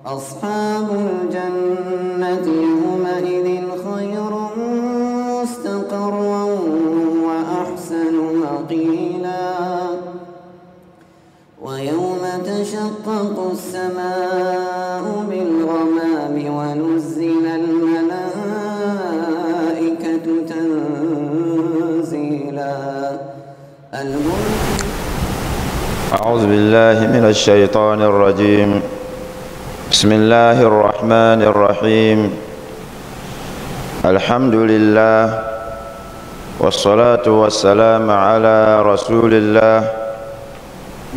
أصحاب الجنة يومئذ خير مستقرا وأحسن مقيلا. ويوم تشقق السماء بالغمام ونزل الملائكة تنزيلا. أعوذ بالله من الشيطان الرجيم. بسم الله الرحمن الرحيم. الحمد لله والصلاة والسلام على رسول الله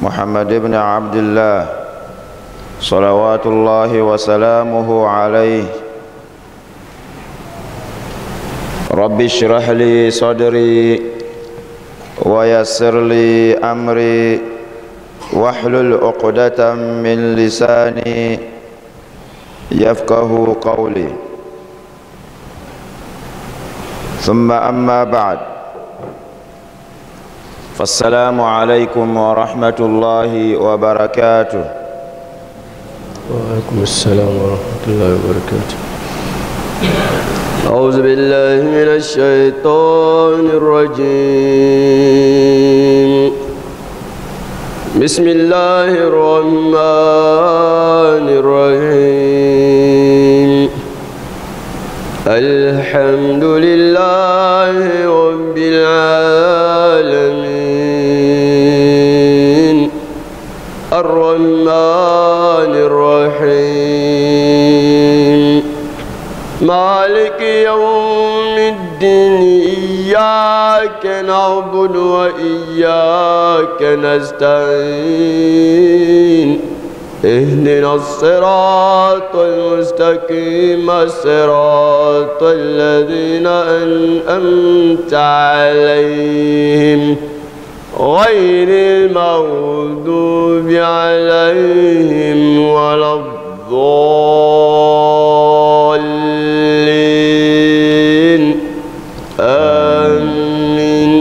محمد بن عبد الله صلوات الله وسلامه عليه. رب اشرح لي صدري ويسر لي أمري واحلل عقدة من لساني يفقه قولي. ثم أما بعد، فالسلام عليكم ورحمة الله وبركاته. وعليكم السلام ورحمة الله وبركاته. أعوذ بالله من الشيطان الرجيم. بسم الله الرحمن الرحيم. الحمد لله رب العالمين الرحمن الرحيم مالك يوم الدين إياك نعبد وإياك نستعين اهدنا الصراط المستقيم صراط الذين أنعمت عليهم غير المغضوب عليهم ولا الضالين. آمين.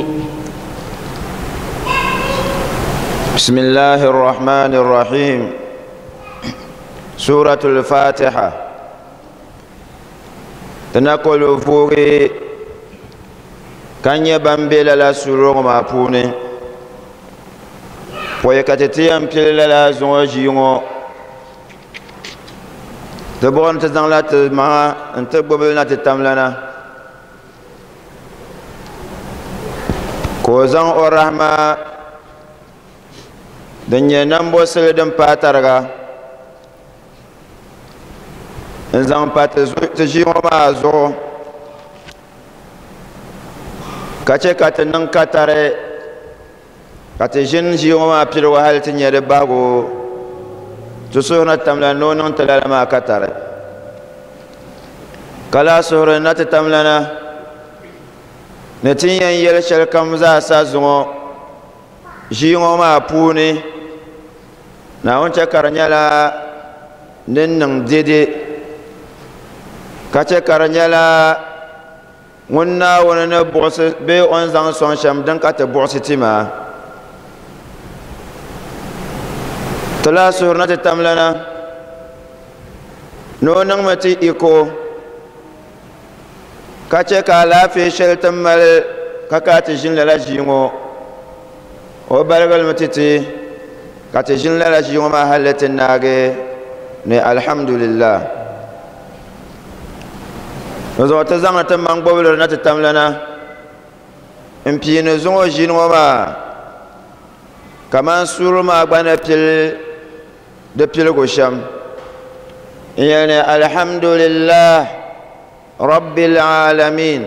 بسم الله الرحمن الرحيم. سورة الفاتحة. تنقل فوقي كان يبنبي لا سورة ما بوني ويكتتيم بيلا لا زوجيو تبون تزان لا ما انت ببلنا تتملنا كوزان الرحمة دنيا نمبو سلدم باترغا nzaŋ pa ti ʒii ŋɔ maa zuɣu ka chɛ ka ti niŋ katari ka ti ʒini ʒii ŋɔ maa piligu hali ti nyɛ di bahigu. Ti suhuri tamla ni o niŋ ti lala maa katari ka lahi suhuri na ti tamlana ni ti yɛn yɛli shɛli kam zaa sa zuŋɔ ʒii ŋɔ maa puuni Naawuni chɛ ka di nyɛla din niŋ dede ka chɛ ka di nyɛla ŋun Naawuni ni buɣisi bee o ni zaŋ sɔŋ shɛm din ka ti buɣisi ti maa. Ti lahi suhuri na ti tamlana ni o niŋmi ti iko ka chɛ ka alaafee shɛli ti mali ka ka ti ʒini lala ʒii ŋɔ o baligilimi ti ti ka ti ʒini lala ʒii ŋɔ maa hali ti naagi ni alhamdulillah. Zuɣu ti zaŋdi ti maŋ gbubili na ti tamlana n piini zuŋɔ ʒini ŋɔ maa kaman suuri maa gba ni pili di piligu shɛm n yɛli ni alhamdulillah rabbil alamin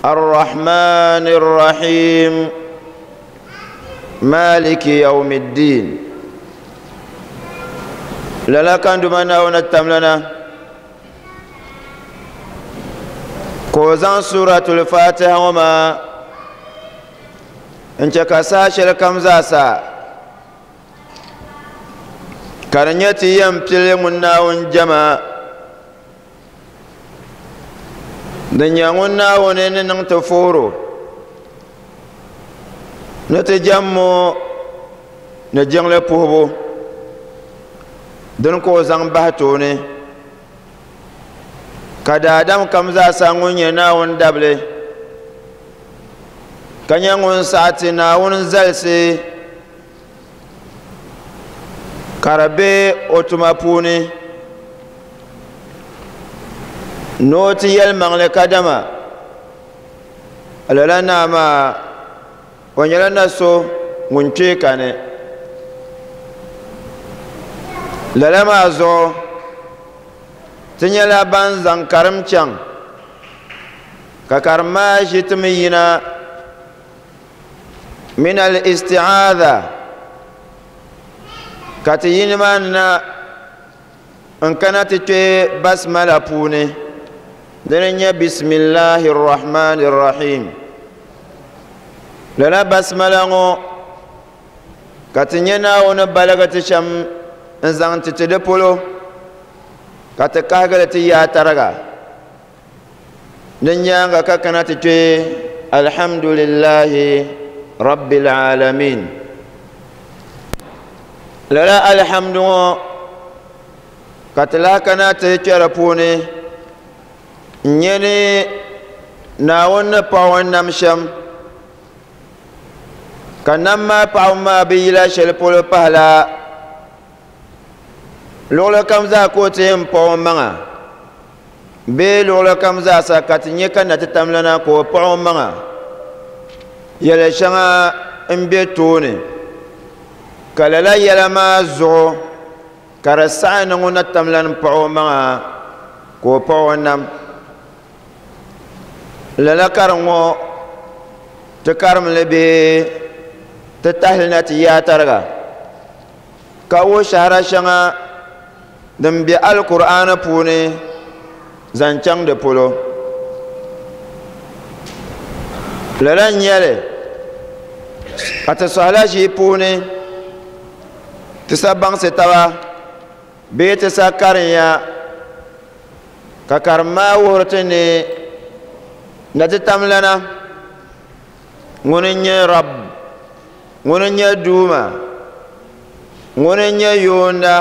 arrahmani rrahim maliki yawmi ddin. Lala kan duma Naawuni tamlana ka o zaŋ suratul fatiha ŋɔ maa n chɛ ka saha shɛli kam zaa sa ka di nyɛ ti yɛn pili ŋun Naawuni jɛma din nyɛ ŋun Naawuni ni niŋ ti fooro ni ti jɛmmo ni jiŋli puhibu. Dini ka o zaŋ bahi tooni ka daadam kam zaasa ŋun nyɛ Naawuni dabili ka nyɛ ŋun saɣi ti Naawuni zalisi ka di be o tuma puuni ni o ti yɛlimaŋli kadama lala naa maa o nyɛla na so ŋun kpee kani. Lala maa zuɣu ti nyɛla ban zaŋ karim chaŋ ka karim maa ʒi ti mi yina min al-isti'aadha ka ti yi nimaani na n kana ti kpe basmala puuni dini n nyɛ bisimilahi rahmani rahim. Lala basmala ŋɔ ka ti nyɛ Naawuni baligi ti shɛm n zaŋ ti ti di polo ka ti kahigili ti yaa tariga. Din nyaaŋa ka kana ti kpe alhamdulillahi rabbil alamin. Lala alhamdu ŋɔ ka ti lahi kana ti kpe di puuni n nyɛ ni Naawuni ni paɣi o nam shɛm ka nam maa paɣibu maa bi yila shɛli polo pahila luɣili kam zaa ka o ti yɛn paɣi o maŋa bee luɣili kam zaa sa ka ti nyɛ ka na ti tamlana ka o paɣi o maŋa yɛli shɛŋa n be tooni ka lala yɛla maa zuɣu ka di saɣi ni ŋun na tamlani paɣi o maŋa ka o paɣi o nam. Lala karim ŋɔ ti karimli bee ti tahili na ti yaa tariga ka wuhi shɛhira shɛŋa din be Alkur'aani puuni zaŋ chaŋ di polo. Lala n-nyɛ li ka ti sɔhila ʒii puuni ti sa baŋsi taba bee ti sa karinya ka karim maa wuhiri ti ni na ti tamlana ŋuni n-nyɛ Rabb, ŋuni n-nyɛ Duuma, ŋuni n-nyɛ Yoonda,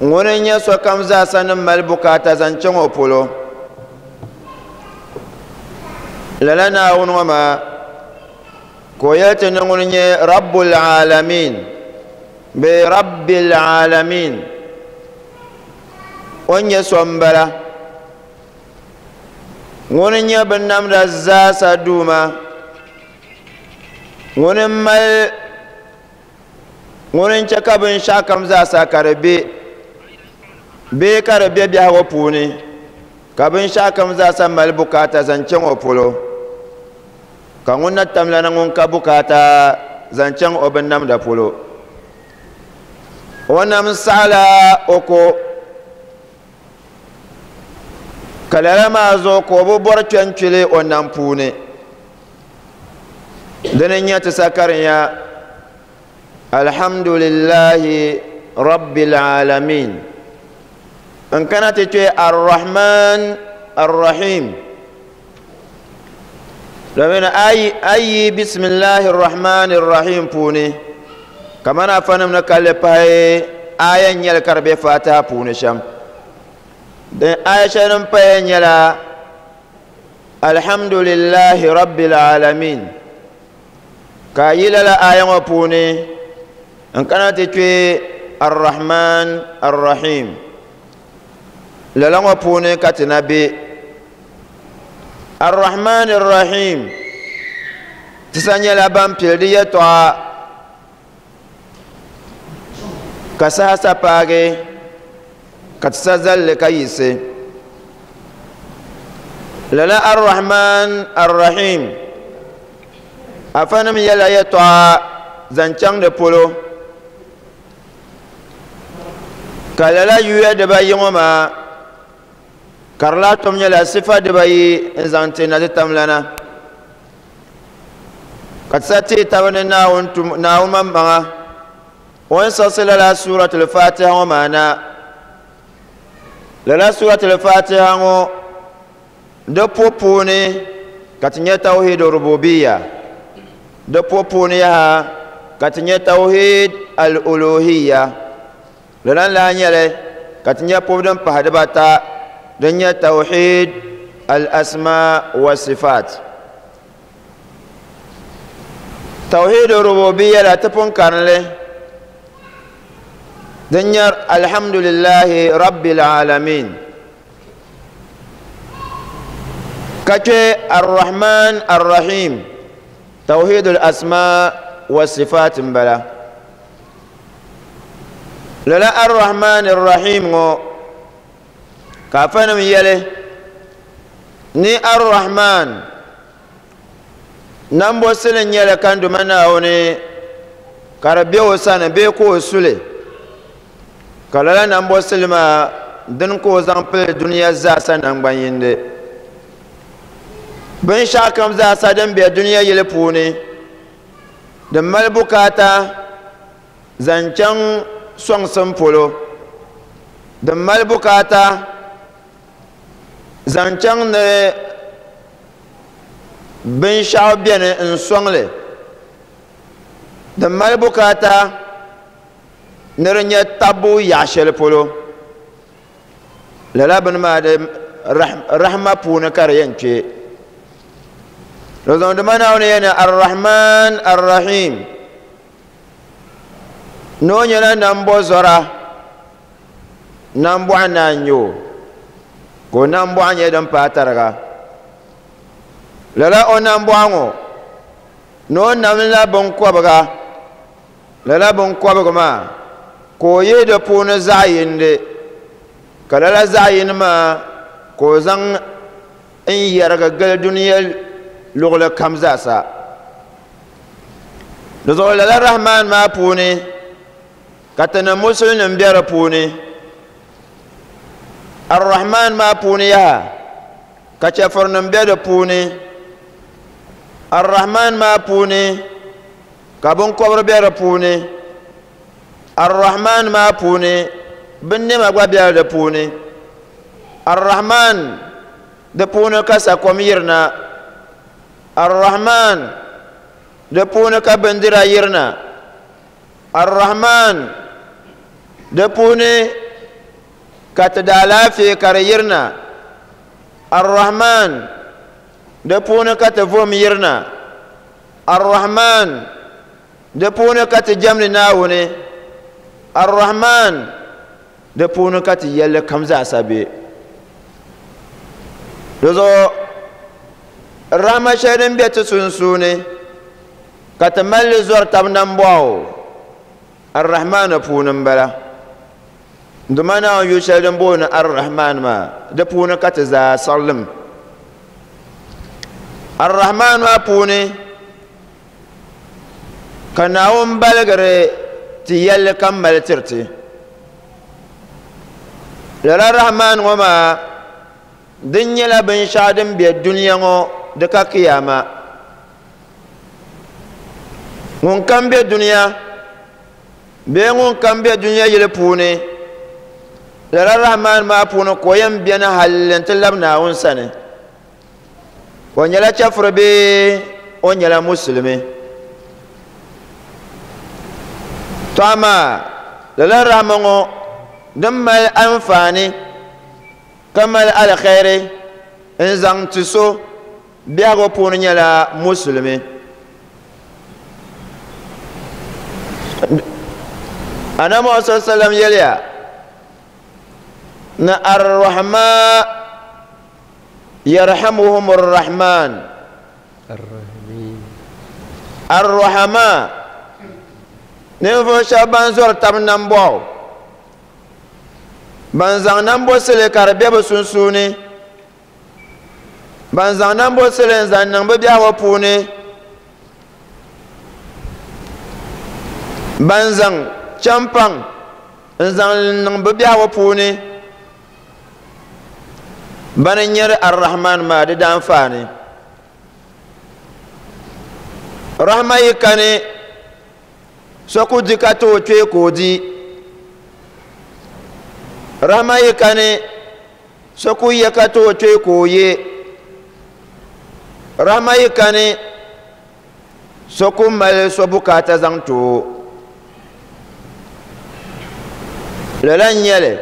ŋuni n-nyɛ sokam zaasa ni mali bukaata zaŋ chaŋ o polo. Lala Naawuni ŋɔ maa ka o yɛli ti ni ŋuni n-nyɛ Rabbul Aalamiin bee Rabbil Aalamiin. O ni nyɛ so m-bala. Ŋuni n-nyɛ binnamda zaasa Duuma. Ŋuni m-mali, ŋuni n-chɛ ka binshɛɣukam zaasa ka di be, bee ka di be biɛhigu puuni, ka binshɛɣukam zaasa mali bukaata zaŋ chaŋ o polo, ka ŋun na tamlana ŋun ka bukaata zaŋ chaŋ o binnamda polo. O nam saɣila o ko, ka lala maa zuɣu ka o bi bɔri kpɛnkpili o nam puuni. Dini n-nyɛ ti sakarinya, Alhamdulillahi Rabbil Alamin. N kana ti kpe Ar-Rahman Ar-Rahim. Domin ayi Bisimillahi Ar-Rahman Ar-Rahim puuni, kamani afanim ni kalli pahi aya n-nyɛli ka di be Fatiha puuni shɛm. Din aya shɛli din paya nyɛla Alhamdulillahi Rabbil Alamin. Ka a yi lala aya ŋɔ puuni n kana ti kpe Ar-Rahman Ar-Rahim. Lala ŋɔ puuni ka ti na be. Ar-Rahman Ar-Rahim ti sa nyɛla ban pili di yɛtɔɣa ka saha sa paagi ka ti sa zalli ka yiɣisi. Lala Ar-Rahman Ar-Rahim afanim yɛla yɛtɔɣa zaŋ chaŋ di polo ka lala yuya dibayi ŋɔ maa ka di lahi tom nyɛla sifa dibayi n zaŋ ti na ti tamlana ka ti sa teei taba ni Naawuni tum Naawuni maŋmaŋa o ni siɣisi lala suratul Fatiha ŋɔ maa na. Lala suratul Fatiha ŋɔ di po puuni ka ti nyɛ tawhid rububiya, di po puuni yaha ka ti nyɛ tawhid al-uluhiya. Lala n-lahi nyɛli ka ti nya pubu din pahi dibata din nyɛ tawhid al-asma wa sifat. Tawhid rububiyya la ti pun karinli din nyɛ alhamdulillahi rabbil alamin ka kpe arrahman arrahim tawhid al-asma wa sifat m-bala. Lala arrahman arrahim ŋɔ ka afanim yɛli ni arrahman nambo sili nyɛli kan duma Naawuni ka di be o sani bee ka o suli ka lala nambo sili maa dini ka o zaŋ pili dunia zaasa nangban yindi. Binshɛɣu kam zaasa din be dunia yili puuni din mali bukaata zaŋ chaŋ sɔŋsim polo, din mali bukaata zaŋ chaŋ ni binshɛɣu beni n-sɔŋli, din mali bukaata ni di nyɛ tabbu yaɣ shɛli polo, lala bini maa di rahma puuni ka di yɛn kpe. Di zuɣu dima Naawuni yɛli ni Ar-Rahman Ar-Rahim ni o nyɛla nambɔzɔra, nambɔɣu naa n-nyɛ o, ka o nambɔɣu nyɛ din paai tariga. Lala o nambɔɣu ŋɔ ni o namla binkɔbiga, lala binkɔbiga maa ka o yihi di puuni zaɣ yindi, ka lala zaɣ yini maa ka o zaŋ n yɛrigi gili dunia luɣili kam zaasa. Di zuɣu lala Rahman maa puuni ka tinim musulinim be di puuni. Ar-Rahman maa puuni yaha ka chɛfurinim be di puuni. Ar-Rahman maa puuni ka binkɔbiri be di puuni. Ar-Rahman maa puuni binnɛma gba be di puuni. Ar-Rahman di puuni ka sakom yirina. Ar-Rahman di puuni ka bindira yirina. Ar-Rahman di puuni ka ti daalaafee ka di yirina. Ar-Rahman di puuni ka ti vom yirina. Ar-Rahman di puuni ka ti jɛmdi Naawuni. Ar-Rahman di puuni ka ti yɛlli kam zaasa be. Di zuɣu rahma shɛli din be ti sunsuuni ka ti mali li zɔri tab nambɔɣu Ar-Rahman puuni m-bala. Duma Naawuni yu shɛli din booni Ar-Rahman maa di puuni ka ti zaa siɣilim. Ar-Rahman maa puuni ka Naawuni baligiri ti yɛlli kam mali tiri ti. Lala Rahman ŋɔ maa din nyɛla binshɛɣu din be dunia ŋɔ di ka kiyama. Ŋun kam be dunia bee ŋun kam be dunia yili puuni lala Rahman maa puuni ka o yɛn beni halli nti labi Naawuni sani. O nyɛla chɛfuri bee o nyɛla musulimi. To amaa lala rahma ŋɔ din mali anfaani ka mali alkhairi n zaŋ ti so biɛhigu puuni nyɛla musulimi. Annabi Muhammad sallallahu alaihi wasallam yɛliya ni ar-rahma yarhamuhum ar-rahman. Ar-rahma ninvuɣu shɛba ban zɔri tab nambɔɣu, ban zaŋ nambɔsili ka di be bɛ sunsuuni, ban zaŋ nambɔsili n zaŋ niŋ bɛ biɛhigu puuni, ban zaŋ champaŋ n zaŋ niŋ bɛ biɛhigu puuni, bani n-nyɛri Ar-Rahman maa di daanfaani. Rahma yi kani so ku di ka ti o kpee ka o di. Rahma yi kani so ku ye ka ti o kpee ka o ye. Rahma yi kani so ku mali so bukaata zaŋ ti o. Lala n nyɛli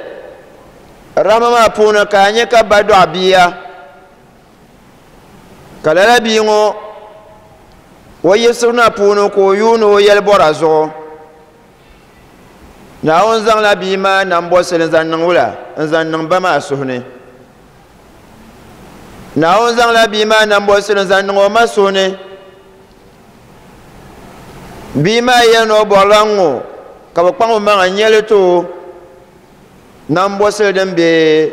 rahama maa puuni ka a nyɛ ka ba dɔɣi bia ka lala bia ŋɔ o yiɣisibu na puuni ka o yuuni o yɛli bɔra zuɣu. Naawuni zaŋla bia maa nambɔsili n zaŋ niŋ wula n zaŋ niŋ ba maa suhu ni. Naawuni zaŋla bia maa nambɔsili n zaŋ niŋ o ma suhu ni. Bia maa yɛli ni o bɔrila n-ŋɔ ka bɛ kpaŋ o maŋa n-nyɛli ti o nambɔsili din be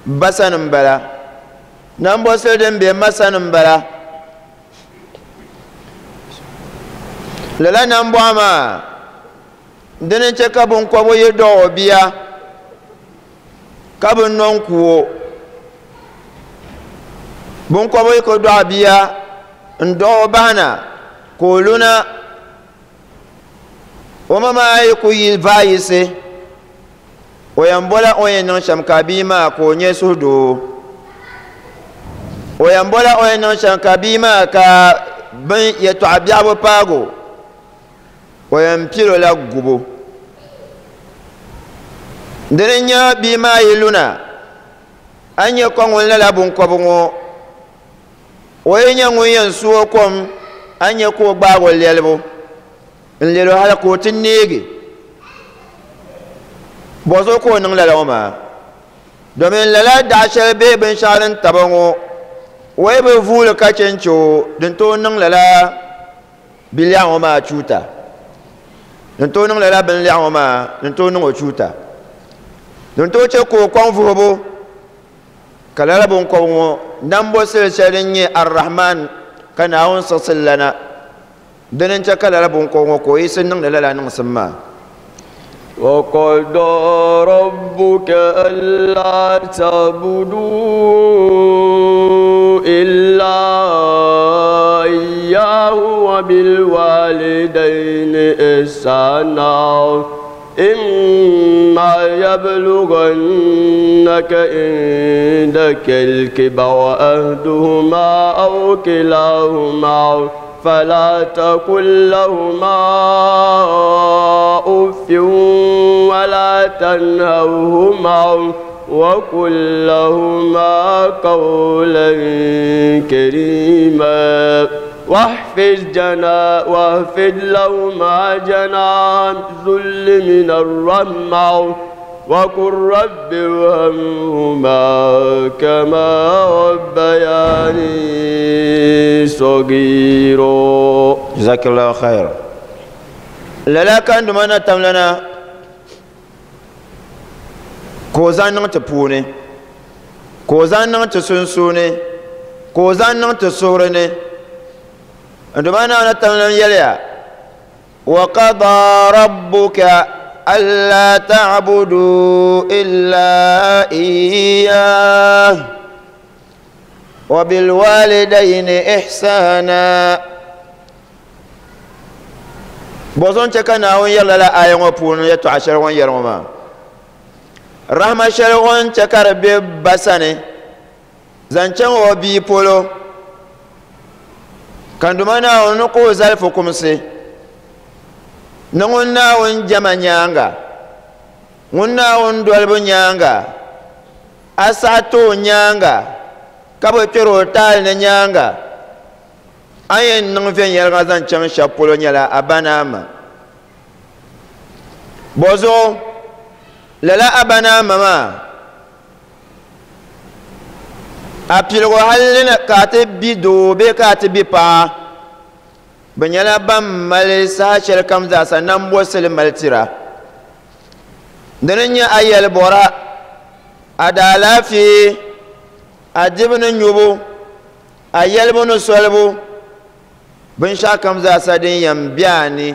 ba sani m-bala, nambɔsili din be ma sani m-bala. Lala nambɔɣu maa dini n-chɛ ka biŋkɔbigu yi dɔɣi o bia ka bi nɔ n-ku o. Biŋkɔbigu yi ku dɔɣi bia n-dɔɣi o bahina ka o luna, o ma maa yi ku yi vaayisi, o yɛn bɔla o ni yɛn niŋ shɛm ka bia maa ka o nyɛ suhudoo. O yɛn bɔla o ni yɛn niŋ shɛm ka bia maa ka bin yɛtɔɣa biɛɣu bi paagi o, o yɛn pili o la gubu. Dini n-nyɛ bia maa yi luna, a ni nyɛ ka ŋun lala biŋkɔbigu ŋɔ, o yi nyɛ ŋun yɛn su o kom, a ni nyɛ ka o gbaagi o lɛlibu n-lɛl o hali ka o ti neegi. Bɔzuɣu ka o niŋ lala ŋɔ maa? Domin lala daɣu shɛli bee binshɛɣu din taba ŋɔ, o yi bi vuuli ka chɛ n-chɛ o, din tooi niŋ lala bilɛɣu ŋɔ maa chuuta. Din tooi niŋ lala binlɛɣu ŋɔ maa, din tooi niŋ o chuuta. Din tooi chɛ ka o kɔŋ vuhibu, ka lala biŋkɔbigu ŋɔ nambɔsili shɛli din nyɛ Ar-Rahman ka Naawuni siɣisili la na. Dini n-chɛ ka lala biŋkɔbigu ŋɔ ka o yiɣisi niŋdi lala niŋsim maa. وقضى ربك ألا تعبدوا إلا إياه وبالوالدين إحسانا إما يبلغنك عندك الكبر أحدهما أو كلاهما فلا تقل لهما أف ولا تنهرهما وقل لهما قولا كريما واحفظ لهما جناح الذل من الرحمة وقل رب ارحمهما كما ربياني صغيرا. جزاك الله خيرا. Lala ka n Duuma na tamlana ka o zaŋ niŋ ti puuni, ka o zaŋ niŋ ti sunsuuni, ka o zaŋ niŋ ti suhuri ni. N Duuma Naawuni tamlana yɛliya, وقضى ربك ألا تعبدوا إلا إياه وبالوالدين إحسانا. Bɔzɔn chɛ ka Naawuni yɛri lala aya ŋɔ puuni yɛtɔɣa shɛli o ni yɛri ŋɔ maa. Rahma shɛli o ni chɛ ka di be ba sani zaŋ chaŋ o bia polo, ka n Duuma Naawuni ni ka o zali fukumsi ni ŋun Naawuni jɛma nyaaŋa, ŋun Naawuni dolibu nyaaŋa, a saɣi ti o nyaaŋa, ka bi kpɛri o taali ni nyaaŋa, a yɛn niŋ viɛnyɛliŋga zaŋ chaŋ shɛba polo nyɛla a ba ni a ma. Bɔzuɣu lala a ba ni a ma maa, a piligu hali ni ka a ti bi doo bee ka a ti bi paɣa, bɛ nyɛla ban mali saha shɛli kam zaasa nambɔsili mali tira. Dini n-nyɛ a yɛli bɔra, a daalaafee, a dibu ni nyubu, a yɛlibu ni solibu, binshɛɣu kam zaasa din yɛn be a ni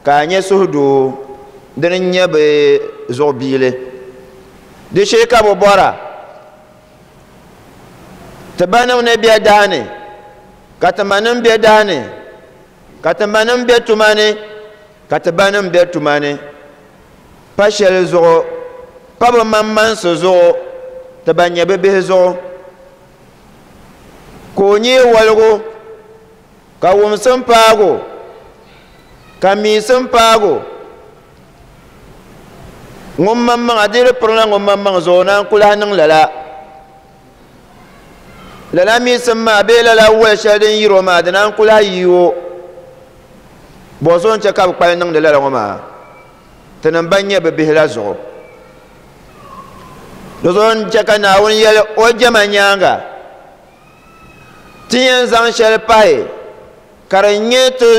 ka a nyɛ suhudoo, dini n-nyɛ bɛ zuɣubiili. Di shee ka bɛ bɔra ti banim ni be dahi ni, ka ti manim be dahi ni, ka ti manim be tuma ni, ka ti banim be tuma ni. Pa shɛli zuɣu, pa bɛ maŋmaŋsi zuɣu, ti ban nyɛ bɛ bihi zuɣu. Ka o nyee waligu, ka wumsim paagi o, ka miisim paagi o. Ŋun maŋmaŋa di di pirila ŋun maŋmaŋ zuɣu naan ku lahi niŋ lala. Lala miisim maa bee lala wali shɛli din yiri o maa di naan ku lahi yi o. Bɔzuɣu n-chɛ ka bɛ kpali niŋdi lala ŋɔ maa? Tinim ban nyɛ bɛ bihi la zuɣu. Di zuɣu n-chɛ ka Naawuni yɛli o jɛma nyaaŋa, Ti yɛn zaŋ shɛli pahi ka di nyɛ ti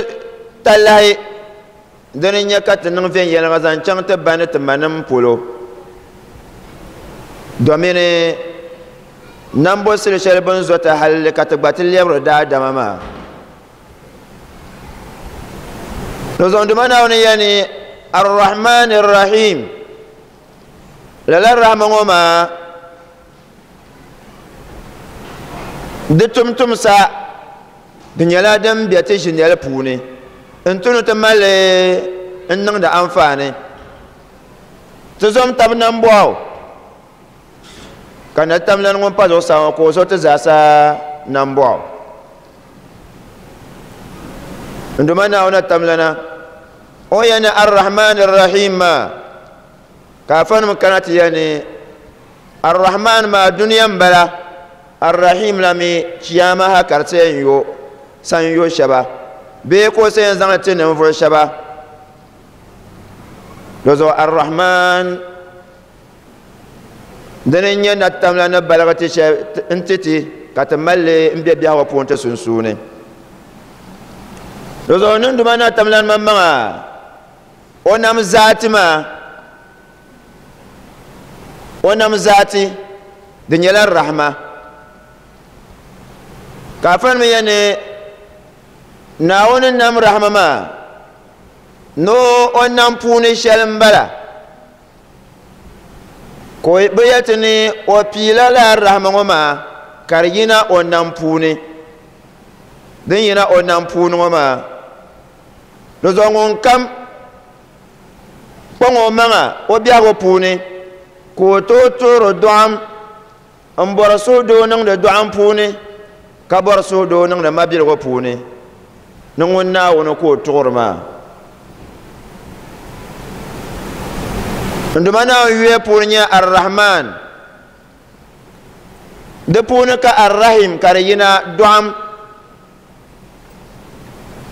talahi dini n-nyɛ ka ti niŋ viɛnyɛliŋga zaŋ chaŋ ti ba ni ti manim polo, domini nambo sili shɛli bɛ ni zo ti halli ka ti gba ti lɛbiri daadama maa. Di zuɣu Duuma Naawuni yɛli ni, Ar-Rahman Ar-Rahim, lala rahma ŋɔ maa di tumtumsa di nyɛla din be ti ʒinɛli puuni n-tu ni ti mali li n-niŋdi anfaani. Ti zom tab nambɔɣu ka natamlana ŋun pa zuɣusaa ŋɔ ka o zo ti zaasa nambɔɣu. N Duuma Naawuni natamlana, o ni yɛli ni Ar-Rahman Ar-Rahim maa, ka afanim kana ti yɛli ni Ar-Rahman maa dunia m-bala, Ar-Rahim la mi chiyaama ha ka di ti yɛn yo sanyo shɛba bee ka o sa yɛn zaŋ li ti ninvuɣ shɛba. Di zuɣu Ar-Rahman dini n-nyɛ natamla ni baligi ti shɛli n-ti ti ka ti mali li m-be biɛhigu puuni ti sunsuuni. Di zuɣu niŋduma natamla maŋmaŋa o nam zaati maa O nam zaati, di nyɛla rahma. Ka afa nim yɛli ni Naawuni nam rahma maa ni o nam puuni shɛli m-bala. Ka bɛ yɛli ti ni o piila lala rahma ŋɔ maa ka di yina o nam puuni. Din yina o nam puuni ŋɔ maa, di zuɣu ŋunkam kpaŋ o maŋa o biɛhigu puuni ka o tooi tuɣiri dɔɣim m-bɔri suhudoo niŋdi dɔɣim puuni ka bɔri suhudoo niŋdi mabiligu puuni ni ŋun Naawuni ka o tuɣiri maa. N Duuma Naawuni yuya puuni nyɛ Ar-Rahman. Di puuni ka Ar-Rahim ka di yina dɔɣim.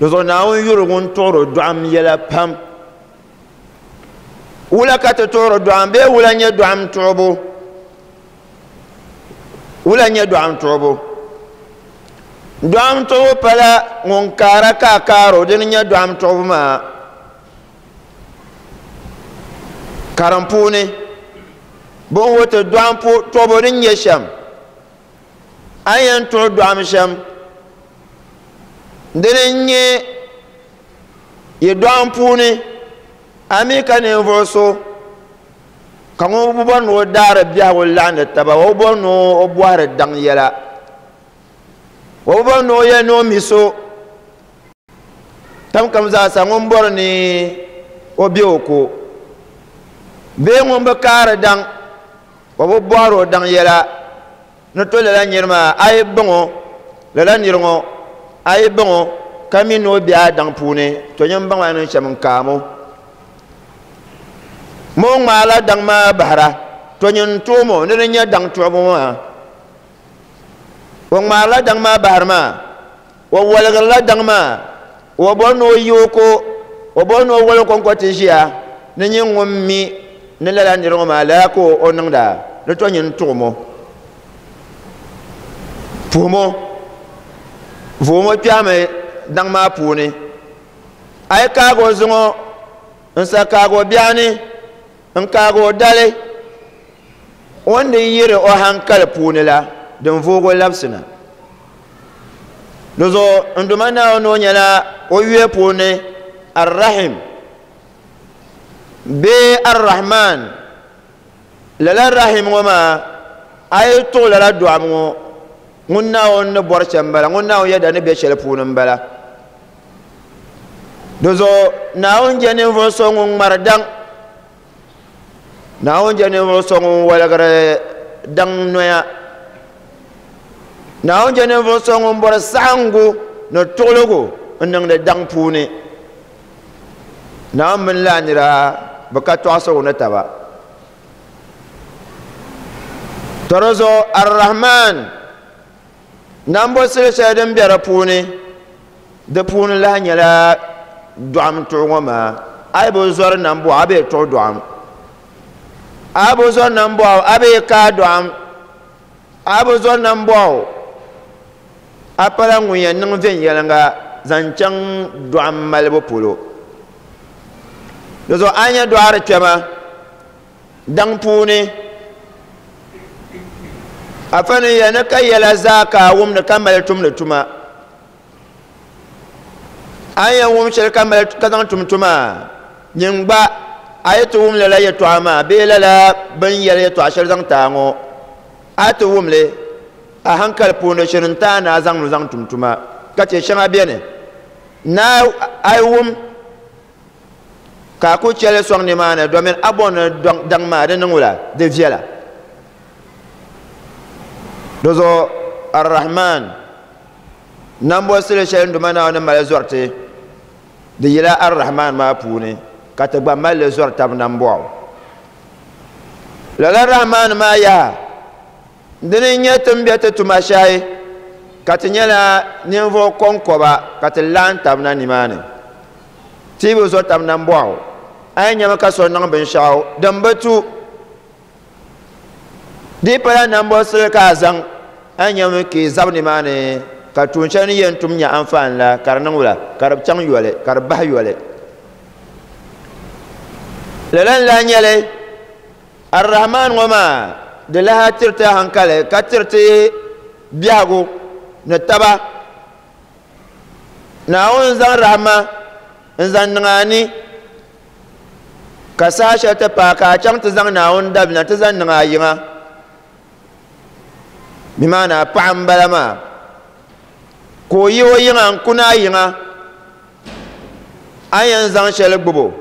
Di zuɣu Naawuni yuri ŋun tuɣiri dɔɣim yɛla pam. Wula ka ti tuɣiri dɔɣim bee wula n-nyɛ dɔɣim tuɣibu? Wula n-nyɛ dɔɣim tuɣibu? Dɔɣim tuɣibu pala ŋun kaara ka a kaaro, dini n-nyɛ dɔɣim tuɣibu maa. Karim puuni, bɛ ni wuhi ti dɔɣim tuɣibu din nyɛ shɛm. A ni yɛn tuɣi dɔɣim shɛm, dini n-nyɛ yi dɔɣim puuni, a mi ka ninvuɣ so ka ŋun bi bɔri ni o daari biɛhigu laɣindi taba, o bi bɔri ni o bɔhiri daŋ yɛla, o bi bɔri ni o yɛli ni o mi so tam kam zaasa ŋun bɔri ni o be o ko bee ŋun bi kaari daŋ O bi bɔhiri o daŋ yɛla ni to lala niri maa, a yi baŋ o, lala niri ŋɔ, a yi baŋ o ka mi ni o be a daŋ puuni, to nyin baŋ a ni niŋ shɛm n-kaam o. Ma o ŋmaala daŋ maa bahira, to nyin tuɣim o ni di nyɛ daŋ tuɣibu maa. O ŋmaarila daŋ maa bahiri maa, o waligirila daŋ maa, o bɔri ni o yi o ko, o bɔri ni o wali o kɔŋko ti ʒiya ni nyin ŋun mi ni lala niri ŋɔ maa lala ka o niŋda, di to nyin tuɣim o, puhim o, vuhim o kpɛhimi daŋ maa puuni. A yi kaagi o zuŋɔ n-sa kaagi o biɛɣuni n-kaagi o dali, o ni di yiri o hankali puuni la, din voog o labisi na. Di zuɣu n Duuma Naawuni o nyɛla o yuya puuni Ar-Rahim bee Ar-Rahman. Lala Rahim ŋɔ maa, a yi tuɣi lala dɔɣim ŋɔ, ŋun Naawuni ni bɔri shɛm m-bala, ŋun Naawuni yɛda ni be shɛli puuni m-bala. Di zuɣu Naawuni je ninvuɣ so ŋun ŋmari daŋ. Naawuni je ninvuɣ so ŋun waligiri daŋ noya. Naawuni je ninvuɣ so ŋun bɔri saɣiŋgu ni tuɣiligu n-niŋdi daŋ puuni. Naawuni mini lala nira bi ka tɔɣisigu ni taba. To di zuɣu Ar-Rahman nambo sili shɛli din be di puuni, di puuni lahi nyɛla dɔɣim tuɣu ŋɔ maa. A yi bi zɔri nambɔɣu, a bee tuɣu dɔɣim. A yi bi zɔri nambɔɣu, a bee kaai dɔɣim. A bi zɔri nambɔɣu, a pala ŋun yɛn niŋ viɛnyɛliŋga zaŋ chaŋ dɔɣim malibu polo. Di zuɣu a yi nya dɔɣiri kpɛma daŋ puuni, afa ni yɛli ni ka yɛla zaa ka a wumdi ka mali tumdi tuma. A ni yɛn wum shɛli ka mali ka zaŋ tum tuma, nyin gba a yi ti wum lala yɛtɔɣa maa bee lala bɛ ni yɛli yɛtɔɣa shɛli zaŋ ti a ŋɔ, a yi ti wum li a hankali puuni shiri n-ti a ni a zaŋ li zaŋ tum tuma. Ka chɛ shɛŋa beni ni a yi wum ka a ku chɛ li sɔŋ nimaani domin a bɔri ni daŋ maa di niŋ wula? Di viɛla. Di zuɣu Ar-Rahman nambɔsili shɛli n Duuma Naawuni ni mali zɔri ti, di yila Ar-Rahman maa puuni ka ti gba mali li zɔri tab nambɔɣu. Lala Rahman maa yaha, dini n-nyɛ ti ni be ti tuma shɛhi ka ti nyɛla ninvuɣ kɔŋkɔba ka ti laɣim tab na nimaani. Ti bi zo tab nambɔɣu. A yi nyami ka so niŋ binshɛɣu din bi tu, di pala nambɔsili ka a zaŋ, a yi nyami ka yi zabi nimaani ka tuun shɛli ni yɛn tum nya anfaani la ka di niŋ wula? Ka di chaŋ yoli, ka di bahi yoli. Lala n-lahi nyɛ li, Ar-Rahman ŋɔ maa di lahi tiriti hankali ka tiriti biɛhigu ni taba. Naawuni n-zaŋ rahma n-zaŋ niŋ a ni, ka saha shɛli ti paai ka a chaŋ ti zaŋ Naawuni dabila ti zaŋ niŋ a yiŋa. Bɛ maana a paɣa m-bala maa, ka o yi o yiŋa n-kuni a yiŋa, a ni yɛn zaŋ shɛli gbubi o,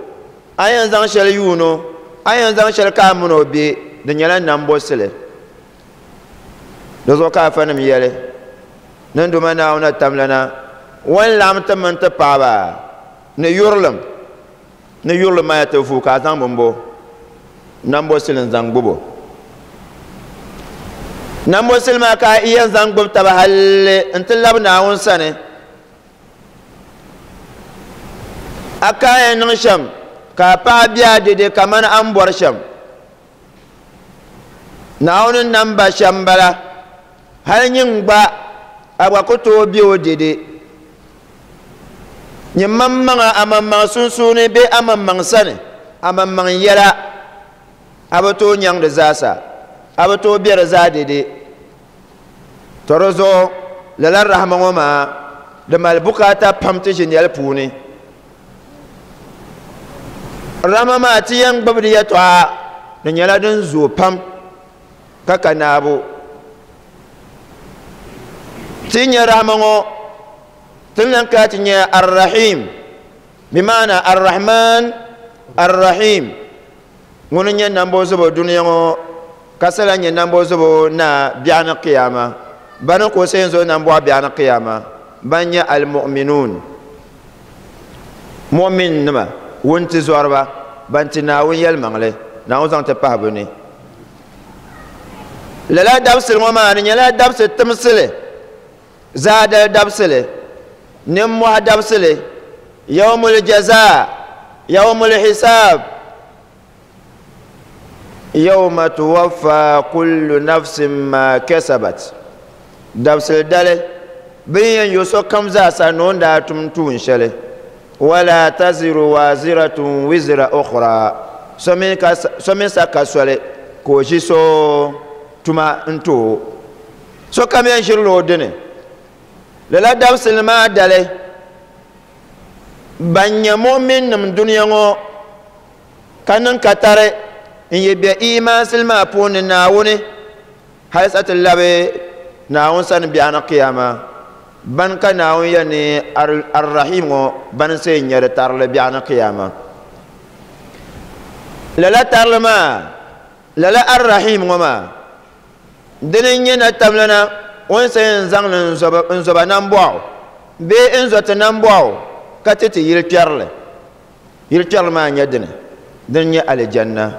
a ni yɛn zaŋ shɛli yuun o, a ni yɛn zaŋ shɛli ka a mini o be, di nyɛla nambɔsili. Di zuɣu ka afanim yɛli, Ni n Duuma Naawuni tamlana, o ni laɣim ti mini ti paɣiba ni yurilim, ni yurilim maa ya ti vuui ka a zaŋ bimbo nambɔsili n-zaŋ gbib o. Nambɔsili maa ka a yɛn zaŋ gbubi taba halli nti labi Naawuni sani. A ka a yɛn niŋ shɛm ka a paɣa be a dɛde kamani a ni bɔri shɛm. Naawuni ni nam ba shɛm m-bala, hal nyin gba, a gba ku tooi be o dɛde. Nyin maŋmaŋa a maŋmaŋ sunsuuni bee a maŋmaŋ sani, a maŋmaŋ yɛla, a bi tooi nyaŋ di zaasa, a bi tooi be di zaa dɛde. Tɔ di zuɣu lala rahama ŋɔ maa di mali bukaata pam ti ʒinɛli puuni. Rahama maa ti yɛn gbubi di yɛtɔɣa di nyɛla din zooi pam ka ka naabu. Ti nyɛ rahama ŋɔ ti ni lan kana ti nyɛ Ar-Rahim, bi maana Ar-Rahman Ar-Rahim. Ŋuni n-nyɛ nambɔzobo dunia ŋɔ ka sa lahi nyɛ nambɔzobo na biɛɣuni qiyama? Bani ka o sa yɛn zo nambɔɣu biɛɣuni qiyama? Ban nyɛ al-mu'minuun, mu'min nima, wuntizɔriba, ban ti Naawuni yɛlimaŋli, Naawuni zaŋ ti pahi bɛ ni. Lala dabisili ŋɔ maa di nyɛla dabisi timsili, Zaadali dabisili, nimmɔhi dabisili, yawmul jazaa, yawmul hisaab, yawma tuwaffa kullu nafsin ma kasabat, dabisili dali bɛ ni yɛn yo sokam zaasa ni o ni daa tum tuun shɛli, wala taziru waziratun wizra ukhra, so mi sa ka soli ka o ʒi so tuma n-ti o. Sokam yɛn ʒirila o dini. Lala dabisili maa dali, ban nyɛ mu'minnim dunia ŋɔ ka niŋ katari n-yi bɛ iimaansili maa puuni Naawuni hali sa ti labi Naawuni sani biɛɣuni Qiyama, bani ka Naawuni yɛli ni Ar-Rahim ŋɔ bani n-say nya di tarili biɛɣuni Qiyama. Lala tarili maa, lala Ar-Rahim ŋɔ maa, Dini n-nyɛ natamlana o ni sa yɛn zaŋ li n-zo ba nambɔɣu bee n-zo ti nambɔɣu ka ti ti yilikpɛrili. Yilikpɛrili maa n-nyɛ dini? Dini n-nyɛ alijanna,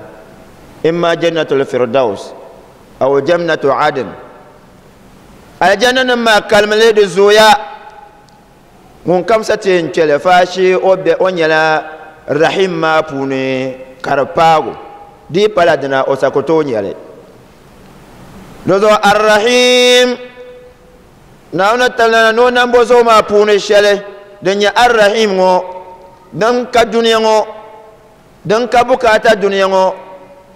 imma jannatul firdaus Aw jannatu adn. Aljanna nim maa kalimi li di zooya. Ŋun kam sa ti yɛn kpɛli faashee o be o nyɛla rahim maa puuni ka di paagu. Di yi pala dina o sa ku tooi nyɛli. Di zuɣu Ar-Rahim Naawuni talana ni o nambo zuɣu maa puuni shɛli din nyɛ Ar-Rahim ŋɔ din ka dunia ŋɔ din ka bukaata dunia ŋɔ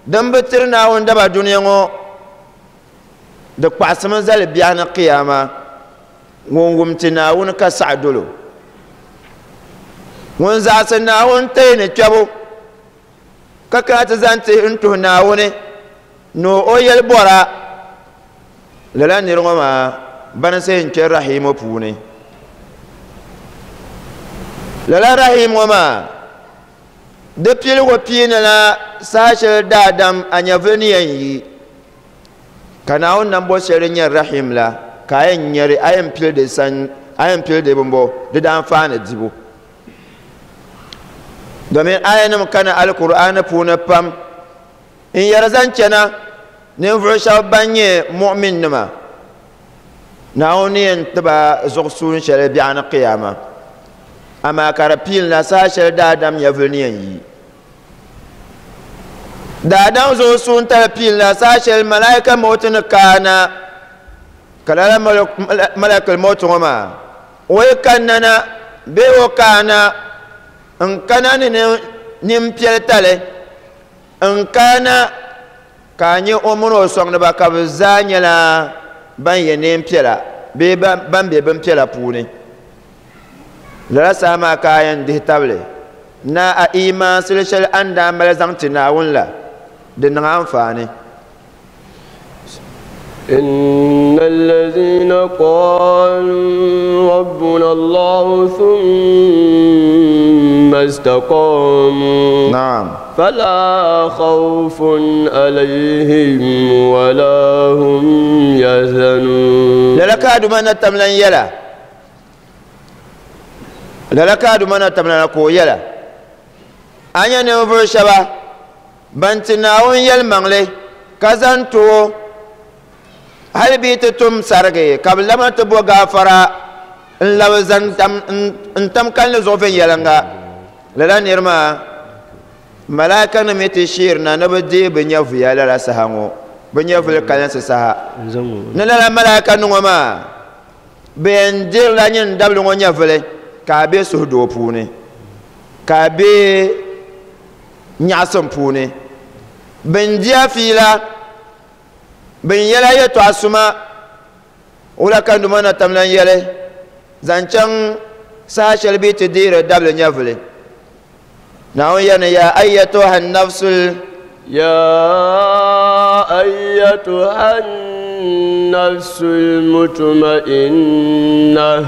din bi tiri Naawuni daba dunia ŋɔ di kpaɣisimi zali biɛhi ni qiyama ŋun wum ti Naawuni ka saɣi dolo. Ŋun zaɣisi Naawuni tɛyi ni kpɛbu ka kana ti zaŋ ti n-tuhi Naawuni ni o yɛli bɔra, lala nir ŋɔ maa bani say n-kpe Rahimu puuni. Lala Rahim ŋɔ maa di piligu piinila saha shɛli daadam a nyɛvili ni yɛn yi, ka Naawuni nambo shɛli din nyɛ Rahim la ka a yɛn nyari, a yɛn pili di san, a yɛn pili di bimbo di daanfaani dibu. Domin ayanim kana Alkur'aani puuni pam n yɛri zaŋ chana ninvuɣu shɛba ban nyɛ mu'minnima, Naawuni ni yɛn ti ba zuɣusuun shɛli biɛɣuni qiyama, amaa ka di piinila saha shɛli daadam nyɛvuli ni yɛn yi. Daadam zuɣusuun tali piinila saha shɛli malaika mauti ni kaana, ka lala malakil mauti ŋɔ maa o yi kanna na bee o kaana n kana ni nimpiɛli tali n kaana ka a nyɛ o mini o sɔŋdiba ka bɛ zaa nyɛla ban yɛ neen piɛla bee ban be bin piɛla puuni. Lala saha maa ka a yɛn dihi tabili ni a iimaansili shɛli a ni daa mali zaŋ ti Naawuni la di niŋ anfaani. إن الذين قالوا ربنا الله ثم استقاموا نعم فلا خوف عليهم ولا هم يحزنون. Lala ka Aduma na tamlan yɛla. Lala ka Aduma na tamlan ka o yɛla. A nya ninvuɣu shɛba ban ti Naawuni yɛlimaŋli ka zaŋ ti o hali bɛ yi ti tum sarigi ka bɛ labina ti bo gaafara n-labi zaŋ n-tam kalinli zuɣu viɛnyɛliŋga. Lala niri maa malaaikanim yi ti sheerina ni bɛ deei bɛ nyɛvuya lala saha ŋɔ, bɛ nyɛvuli kalinsi saha. Ni lala malaaikanim ŋɔ maa bɛ yɛn dirila nyin dabili ŋɔ nyɛvuli ka a be suhudoo puuni, ka a be nyaɣisim puuni. Bɛn di a fiila, bɛn yɛl a yɛtɔɣa suma. Wula ka Numa na tam lan yɛli zaŋ chaŋ saha shɛli bɛ yi ti deeri dabili nyɛvili? Naawuni yɛli ni, Yaa ayyatuha n-nafsul. Yaa ayyatuha n-nafsul mutma'innah,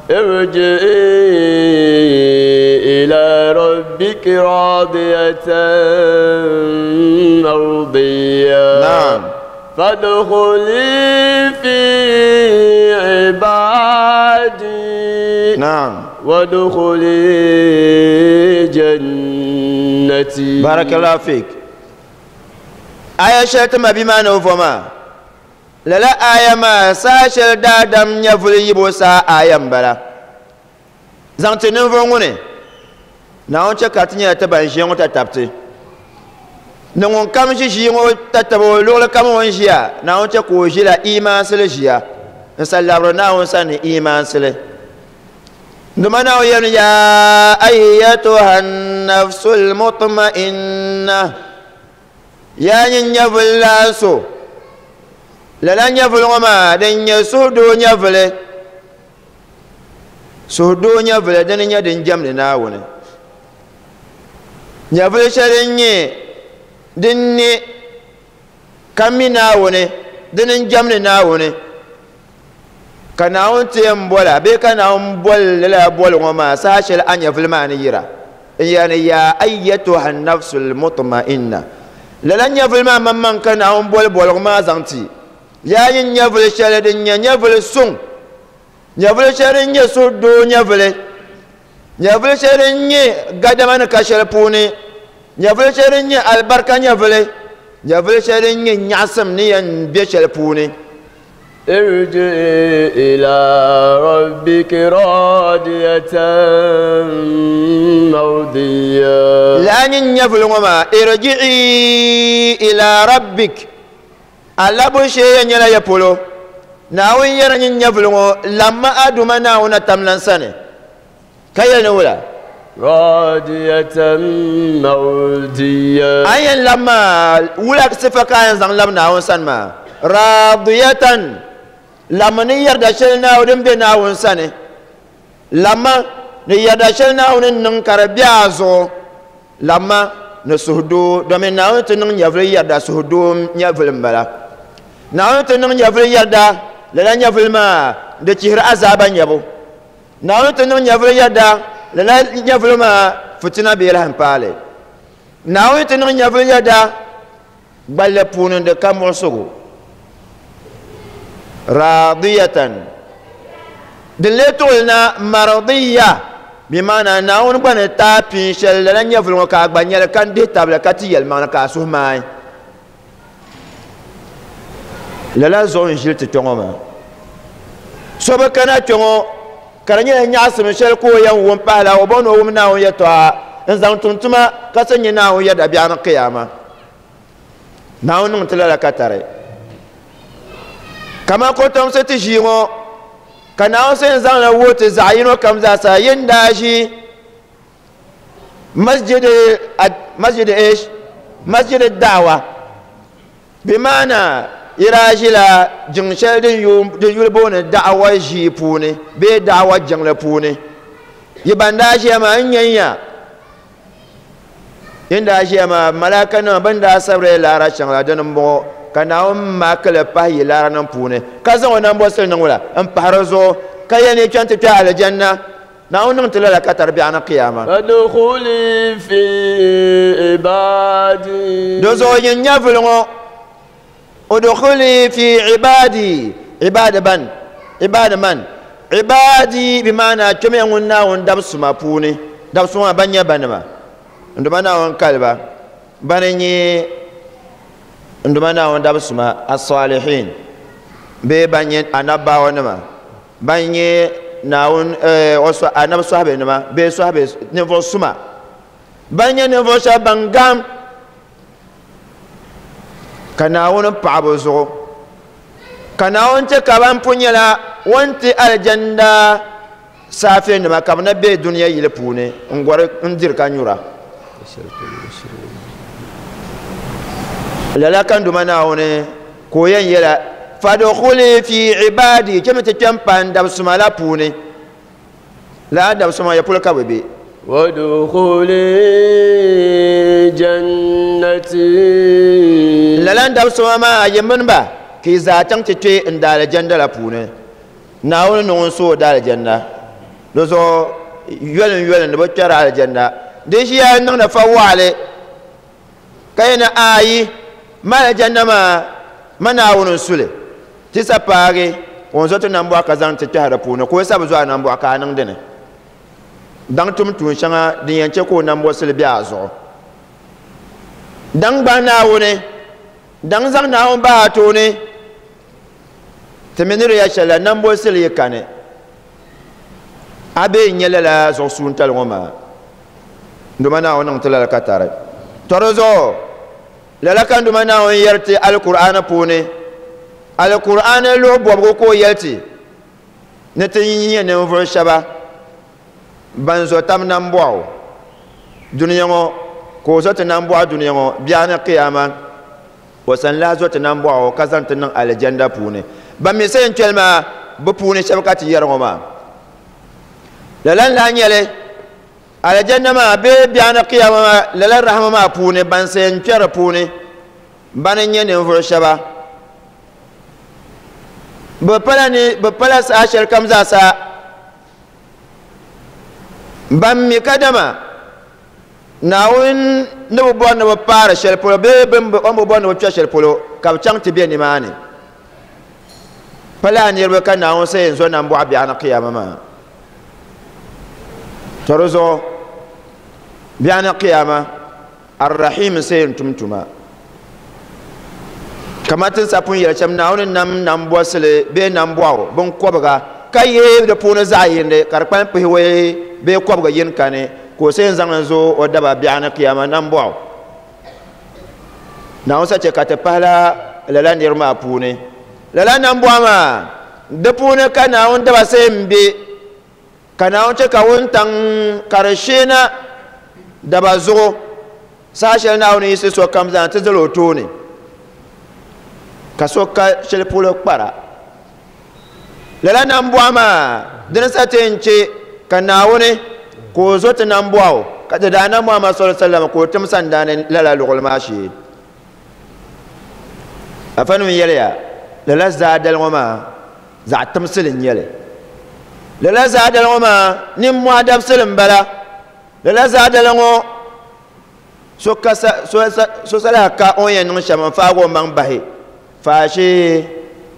irji'i ila rabbiki radiyatan mardiyya. Naam. Fadkhuli fi ibadi. Naam. Wadkhuli jannati. Barakallahu fik. Aya shɛli ti ma bia maa ni o vo maa, lala aya maa saha shɛli daadam nyɛvuli yibu saha aya m-bala. Zaŋ ti ninvuɣ ŋuni, Naawuni chɛ ka ti nyɛla ti ban ʒiya ŋɔ tatabti. Ni ŋun kam ʒi ʒii ŋɔ tatabo o luɣili kam o ni ʒiya, Naawuni chɛ ka o ʒila iimaansili ʒiya n sa labiri Naawuni sani ni iimaansili. Dama Naawuni yɛli ni, Yaa ayyatuha n-nafsul mutma'inna, yaa nyin nyɛvuli laan so, lala nyɛvuli ŋɔ maa din nyɛ suhudoo nyɛvuli, suhudoo nyɛvuli dini nyɛ din jɛmdi Naawuni. Nyɛvuli shɛli n-nyɛ din ne ka mi Naawuni, dini n-jɛmdi Naawuni. Ka Naawuni ti yɛn bɔla bee ka Naawuni boli lala boli ŋɔ maa saha shɛli a nyɛvuli maa ni yira n-yɛli ni, Yaa ayyatuha n-nafsul mutma'inna. Lala nyɛvuli maa maŋmaŋ ka Naawuni boli boligu maa zaŋ ti. Yaa nyin nyɛvuli shɛli din nyɛ nyɛvuli suŋ, nyɛvuli shɛli din nyɛ suhudoo nyɛvuli, nyɛvuli shɛli din nyɛ gadama ni ka shɛli puuni, nyɛvuli shɛli din nyɛ alibarika nyɛvuli. Nyɛvili shɛli din nyɛ nyaɣasim ni yɛn be shɛli puuni. Irji'i ila rabbiki radiyatan mardiyya. Lala nyin nyɛvili ŋɔ maa, irji'i ila rabbik, a labu shee yɛn nyɛla ya polo. Naawuni yɛri nyin nyɛvili ŋɔ, lamma a Duuma Naawuni atamlan sani. Ka yɛli ni wula? Radiyatan mardiyya. A yɛn lab maa, wula sifa ka a yɛn zaŋ lab Naawuni sani maa? Radiyatan, lamma ni yɛrida shɛli Naawuni din be Naawuni sani. Lamma ni yɛrida shɛli Naawuni ni niŋ ka di be a zuɣu. Lamma ni suhudoo, domin Naawuni ti niŋ nyɛvili yɛrida suhudoo nyɛvili m-bala. Naawuni ti niŋ nyɛvili yɛrida, lala nyɛvili maa di chihiri azaaba nyɛbu. Naawuni ti niŋ nyɛvili yɛda, lala nyɛvili maa fitina bee lahi paali. Naawuni ti niŋ nyɛvili yɛda, gballi puuni di ka muɣisigu. Raadiyatan. Din lee tuɣili na mardiya, bi maana Naawuni gba ni taai pin shɛli lala nyɛvili ŋɔ ka a gba nyɛli ka n dihi tabili ka ti yɛlimaŋli ka a suhu maai. Lala zuɣu n ʒili ti kpɛ ŋɔ maa. So bi kana kpɛ ŋɔ ka di nyɛla nyaɣasim shɛli ka o yɛn wum pahila o bɔŋ ni o wum Naawuni yɛtɔɣa n zaŋ tum tuma ka ti nyɛ Naawuni yɛda biɛɣu ni qiyama. Naawuni niŋ ti lala ka tari. Kamani kotomsi ti ʒii ŋɔ ka Naawuni sa yɛn zaŋli wuhi ti zaɣ yino kam zaasa yin daa ʒi masjid masjid ish masjid da'wa bi maana yi daa ʒila jiŋ shɛli din yuli booni da'wa ʒii puuni bee da'wa jiŋli puuni yi ban daa ʒiya maa n nyɛ ya yin daa ʒiya maa malaika nima bin daa sabiri laara shɛŋa la dini n bɔŋɔ ka Naawuni maakili pahi yi laara nim puuni ka zaŋ o nambɔsili niŋ la n pahi di zuɣu ka yɛli ni kpɛn ti kpɛ alijanna. Naawuni niŋ ti lala ka tari biɛɣu ni qiyama. Fadkhuli fi ibadi. Di zuɣu nyin nyɛvuli ŋɔ, udkhuli fi ibadi, ibadi ban, ibadi man, ibadi bi maana kpɛmiya ŋun Naawuni dab suma puuni, dab suma maa ban nyɛ banima, n Duuma Naawuni kaliba, bani n-nyɛ n Duuma Naawuni dab suma, as-salihin, bee ban nyɛ anabbawanima. Ban nyɛ Naawuni anabi sɔhibenima bee sɔhibe ninvuɣ suma, ban nyɛ ninvuɣ shɛba ban gam ka Naawuni paɣi bɛ zuɣu, ka Naawuni chɛ ka ban pun nyɛla o ni ti alijanna saafenima ka bɛ na be dunia yili puuni n-gɔri n-diri ka nyura. Lala ka n Duuma Naawuni ka o yɛn yɛla, Fadkhuli fi ibadi, chɛmi ti kpɛm pa n dabisuma la puuni. Lala dabisuma ya polo ka bɛ be. Wadkhuli jannati. Lala n dabisuma maa yi mini ba ka yi zaa chaŋ ti kpe n daalijanna la puuni. Naawuni ni ŋun su o daalijanna. Di zuɣu yoli n yoli ni bɛ kpɛri alijanna. Di ʒiya n-niŋdi fa waɣili. Ka yɛn ni ayi, ma alijanna maa, ma Naawuni n-su li. Ti sa paagi o n-zo ti nambɔɣu ka zaŋ ti kpɛhi di puuni, ka o sa bi zo a nambɔɣu ka a niŋ di ni. Daŋ tum tuun shɛŋa din yɛn chɛ ka o nambɔsili be a zuɣu. Daŋ gbahi Naawuni, daŋ zaŋ Naawuni bahi a tooni. Ti mi ni di ya shɛli la, nambɔsili yi kani, a bee n-nyɛ lala zuɣusuuntali ŋɔ maa. N Duuma Naawuni niŋ ti lala ka tari. Tɔ di zuɣu, lala ka n Duuma Naawuni yɛri ti Alkur'aani puuni. Alkur'aani luɣ bɔbigu ka o yɛli ti ni ti nyɛ ninvuɣ shɛba ban zo tab nambɔɣu dunia ŋɔ, ka o zo ti nambɔɣu dunia ŋɔ biɛɣu ni Qiyama. O sani lahi zo ti nambɔɣu ka zaŋ ti niŋ Alijanda puuni. Ban mi sa yɛn kpɛli maa, bɛ puuni shɛba ka ti yɛri ŋɔ maa. Lala n-lahi nyɛ li, Alijanna maa bee biɛɣuni Qiyama maa, lala rahama maa puuni, ban sa yɛn kpɛri puuni, bani n-nyɛ ninvuɣu shɛba. Bɛ pala ni, bɛ pala saha shɛli kam zaasa ban mi kadama Naawuni ni bi bɔri ni bɛ paari shɛli polo bee o ni bi bɔri ni bɛ kpe shɛli polo ka bɛ chaŋ ti be nimaani. Pa lala niriba ka Naawuni sa yɛn zo nambɔɣu biɛɣu ni Qiyama maa. Tɔ di zuɣu biɛɣu ni Qiyama, Ar-Rahim n-sa yɛn tum tuma. Kamar tin sa pun yɛli shɛm, Naawuni nam nambɔsili bee nambɔɣu binkɔbiga ka yihi di puuni zaɣ yindi ka di kpalim pihiwɔi bee kɔbiga yini kani, ka o sa zaŋ li zo o daba biɛɣu ni kiyama nambɔɣu. Naawuni sa chɛ ka ti pahila lala niriba maa puuni. Lala nambɔɣu maa, di puuni ka Naawuni daba sa m-be, ka Naawuni chɛ ka wuntaŋ ka di sheena daba zuɣu. Saha shɛli Naawuni yiɣisi sokam zaa nti zali o tooni, ka so ka shɛli polo kpara. Lala nambɔɣu maa dini sa ti yɛn chɛ ka Naawuni ka o zo ti nambɔɣu, ka ti daa na Muhammad sallallahu alaihi wasallam ka o tim sandaani lala luɣili maa shee. Afanim yɛliya, lala zaadali ŋɔ maa zaɣ timsili n-nyɛ li. Lala zaadali ŋɔ maa nimmɔhi dabisili m-bala. Lala zaadali ŋɔ so ka sa, so sa, so salaha ka o ni yɛn niŋ shɛm n-faagi o maŋ bahi, faashee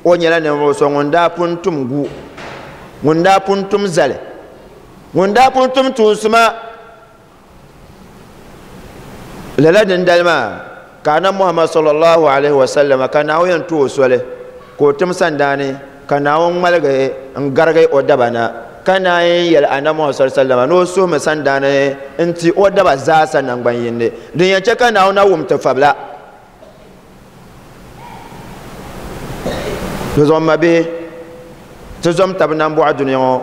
o nyɛla ninvuɣ so ŋun daa pun tum gu, ŋun daa pun tum zali, ŋun daa pun tum tuun suma. Lala dindali maa ka Anabi Muhammad sallallahu alaihi wasallam ka Naawuni yɛn ti o soli ka o tim sandaani ka Naawuni ŋmaligi n-garigi o daba na, ka naan yɛli Anabi Muhammad sallallahu alaihi wasallam ni o suhimi sandaani n-ti o daba zaasa naŋgban yindi din yɛn chɛ ka Naawuni na wum ti fabila. Di zuɣu m mabihi, ti zom tab nambɔɣu dunia ŋɔ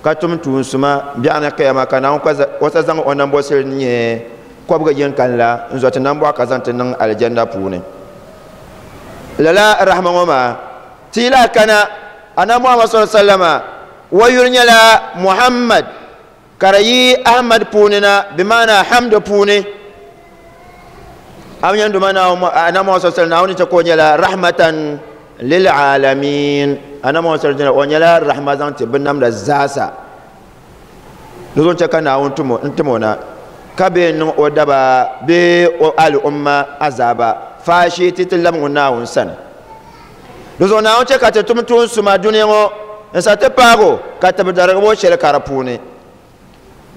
ka tum tuun suma biɛɣuni kiyama ka Naawuni o sa zaŋ o nambɔsili din nyɛ kɔbiga yini kani la n-zo ti nambɔɣu ka zaŋ ti niŋ alijanna puuni. Lala rahima ŋɔ maa ti yi lahi kana Anabi Muhammad sallallahu alaihi wasallam o yuli nyɛla Muhammad ka di yi Ahmad puuni na, bi maana hamdu puuni. A mi nyɛ Duuma Naawuni Anabi Muhammad sallallahu alaihi wasallam Naawuni chɛ ka o nyɛla rahmatan lil alamin. Anabi Muhammad sallallahu alaihi wasallam o nyɛla rahma zaŋ ti binnamda zaasa. Di zuɣu chɛ ka Naawuni n-tim o na ka bee n-niŋ o daba bee o al'umma azaaba faashee ti ti labi ŋun Naawuni sani. Di zuɣu Naawuni chɛ ka ti tum tuun suma dunia ŋɔ n-sa ti paag o ka tibidarigibo shɛli ka di puuni.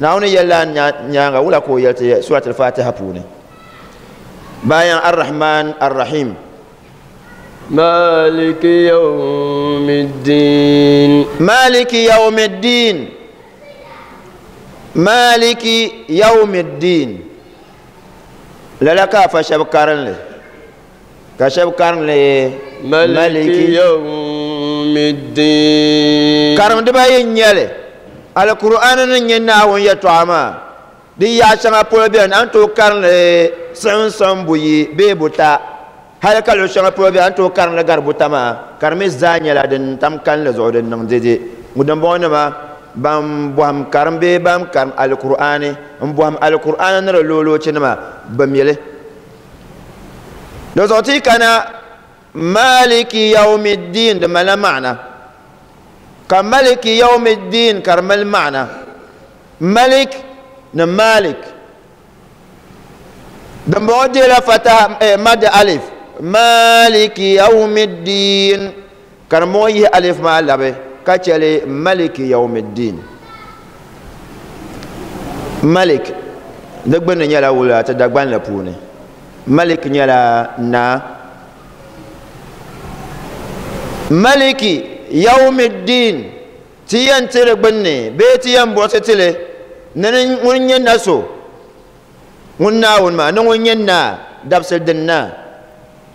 Naawuni yɛlila nyaaŋa wula ka o yɛli ti Surat al-Fatiha puuni? Bayan Ar-Rahman Ar-Rahim. Maliki yawmiddin. Maliki yawmiddin. Maliki yawmiddin. Lala ka afa shɛba karinli. Ka shɛba karinli Maliki yawmiddin. Karim dibayi n-nyɛ li. Alkur'aani ni nyɛ Naawuni yɛtɔɣa maa, di yaɣa shɛŋa polo beni a ni tooi karinli siɣimsiɣim buyi bee buta, hali ka luɣ shɛŋa polo beni a ni tooi karinli gari buta maa, ka di mi zaa nyɛla din tam kalinli zuɣu din niŋ dede. Dimbɔŋɔnima ban bɔhim karim bee ban karim Alkur'aani m-bɔhim Alkur'aani ni di looloochinima bi mi li. Di zuɣu ti kana Maliki yawmiddin di malila maana, ka Maliki yawmiddin ka di mali maana. Malik ni Malik dimbɔŋɔ deela fataha, mad alif. Maliki yawmiddin ka dimbɔŋɔ yihi alif maa labi ka chɛli Maliki yawmiddin. Malik di gbunni nyɛla wula ti Dagbanli puuni. Malik nyɛla naa. Maliki yawmiddin ti yɛn ti di gbunni bee ti yɛn buɣisi ti li ni ŋun nyɛ na so ŋun Naawuni maa ni ŋun nyɛ naa dabisili din naa.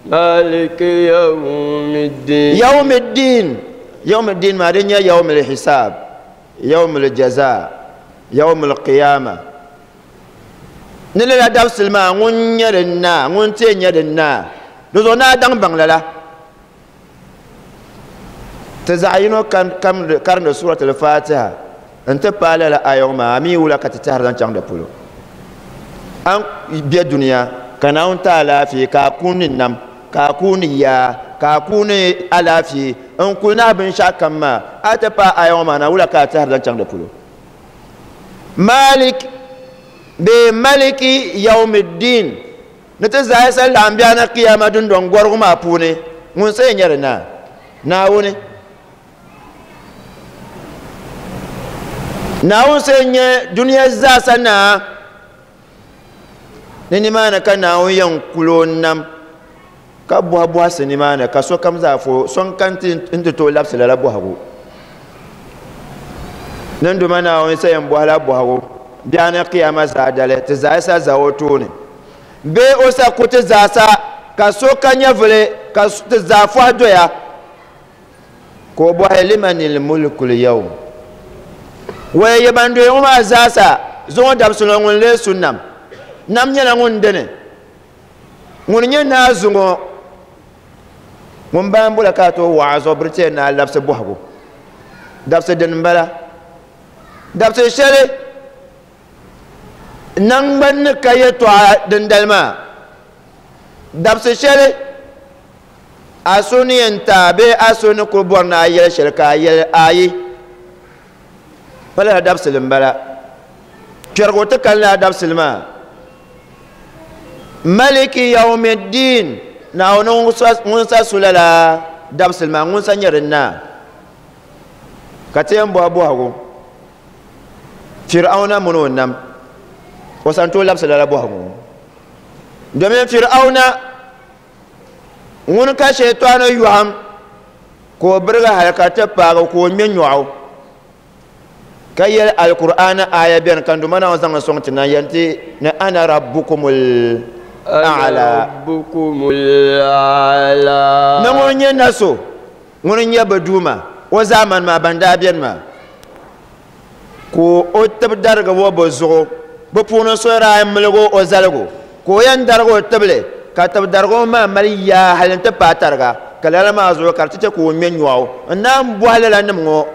Maliki yawmiddin. Yawmiddin. Yawmiddin maa di nyɛ yawmil hisaab, yawmil jazaa, yawmil qiyama. Ni lala dabisili maa ŋun nyɛ din naa, ŋun ti yɛn nyɛ din naa. Di zuɣu naa daŋ baŋ lala. Ti zaɣ yino karindi Suratul Fatiha n-ti paai lala aya ŋɔ maa, a mi wula ka ti tɛhiri zaŋ chaŋ di polo. A ni be dunia ka Naawuni ti alaafee ka a kuuni nam, ka a kuuni yaa, ka a kuuni alaafee n-kuli nahi binshɛɣu kam maa, a ti paai aya ŋɔ maa na, wula ka a tɛhiri zaŋ chaŋ di polo? Malik bee Maliki Yawmiddin ni ti zaɣisa laɣim biɛɣu ni kiyama dundɔŋ gɔrigu maa puuni, ŋun sa yɛn nyɛ di naa? Naawuni. Naawuni sa yɛn nyɛ dunia zaasa naa. Ni nimaani ka Naawuni yɛn kul o nam. Ka bɔhi bɔhisi nimaani ka sokam zaa fo so n-kani nti tooi labisi lala bɔhigu. Ninduma Naawuni sa yɛn bɔhila bɔhigu biɛɣuni kiyama zaadali ti zaasa za o tooni. Bee o sa ku ti zaasa ka so ka nyɛvili ka ti zaa fɔhi doya. Ka o bɔhi limanil mulkul yawm. Waya yi ban doya ŋɔ maa zaasa zuŋɔ dabisili ŋɔ ŋun lee su nam. Nam nyɛla ŋun dini. Ŋun nyɛ naa zuŋɔ ŋun baan bɔla ka a tooi waɣa zuɣu biritiya ni a labisi bɔhigu. Dabisi dini m-bala. Dabisi shɛli naŋgbani ni ka yɛtɔɣa dindali maa. Dabisi shɛli a so ni yɛn ti a bee a so ni kuli bɔri ni a yɛli shɛli ka a yɛli ayi. Pa lala dabisili m-bala. Kpɛrigu ti kani lala dabisili maa. Maliki yawmiddin, Naawuni ŋun sa su lala dabisili maa, ŋun sa nyɛ din naa. Ka ti yɛn bɔhi bɔhigu, Fir'auna mini o nam, o sa n-tooi labisi lala bɔhigu ŋɔ? Domin Fir'auna ŋuni ka shɛitɔni yɔhim ka o birigi hali ka ti paagi ka o ŋme nyɔɣu ka yɛli Alkur'aani aya beni ka Duuma Naawuni zaŋ li sɔŋ ti na n-yɛli ti ni ana rabbukumul a'la. Ni ŋun nyɛ na so ŋun n-nyɛ bɛ Duuma o zaamani maa ban daa beni maa ka o tib darigi o bɛ zuɣu bɛ puuni so daa miligi o zaligu ka o yɛn darigi o tibili ka tib darigi o maa mali yaa hali nti paai tariga ka lala maa zuɣu ka di ti chɛ ka o ŋme nyɔɣu n naan bɔhi lala nim ŋɔ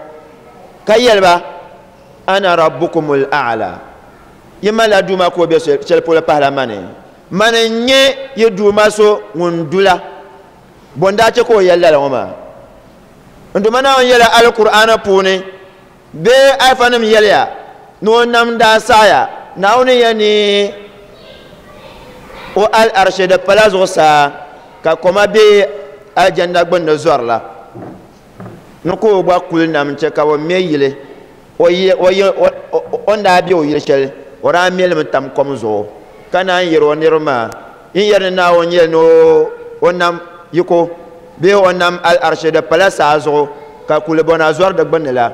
ka yɛli ba ana rabbukumul a'la yi malila Duuma ka o be shɛli polo pahila mani mani n-nyɛ yi Duuma so ŋun dula bɔ n-daa chɛ ka o yɛli lala ŋɔ maa n Duuma Naawuni yɛla Alkur'aana puuni bee alifanim yɛliya ni o nam daa saɣaya Naawuni ya ni o al-arshi di pala zuɣusaa ka koma be aljanna gbunni zɔri la ni ka o gba kuli nam n-chɛ ka bɛ me yili o ni daa be o yili shɛli o daa me li mi tam kom zuɣu ka naan yɛri o niriba maa yin yɛri ni Naawuni yɛli ni o nam yiko bee o nam al-arshi di pala saa zuɣu ka kulibɔna zɔri di gbunni la.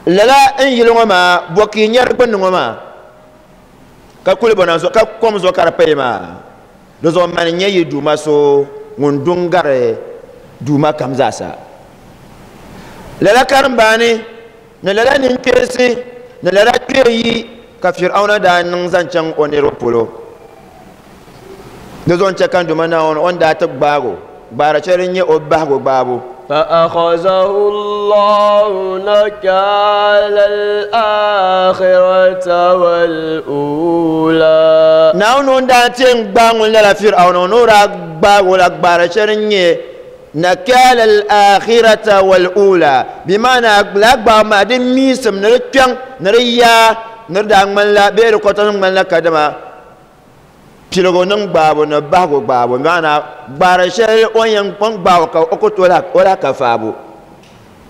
Lala n yili ŋɔ maa bɔ ka yi nya di gbunni ŋɔ maa ka kulibɔna zɔ ka kom zuɣu ka di payi maa di zuɣu mani n-nyɛ yi Duuma so ŋun du n-gari Duuma kam zaasa. Lala karimbaani ni lala ninkpeensi ni lala kpee yi ka Fir'auna daa niŋ zaŋ chaŋ o niriba polo. Di zuɣu n-chɛ ka n Duuma Naawuni o ni daa ti gbaag o, gbaari shɛli din nyɛ o bahigu gbaabu. فأخذه الله نكال الآخرة والأولى. Naawuni ŋun daa ti yɛn gbaai ŋun lala Fir'auna ŋɔ ni o daa gbaag o la gbaari shɛli din nyɛ nakal al-akhirata wal-ula, bimaana lala gbaabu maa di miisim ni di kpɛŋ ni di yaa ni di daa ŋmanila bee di kɔtɔsim ŋmanila kadama piligu niŋ gbaabu ni bahigu gbaabu, bimaana gbaari shɛli o ni yɛn gbaai o ka o ku tooi o lahi ka faabu.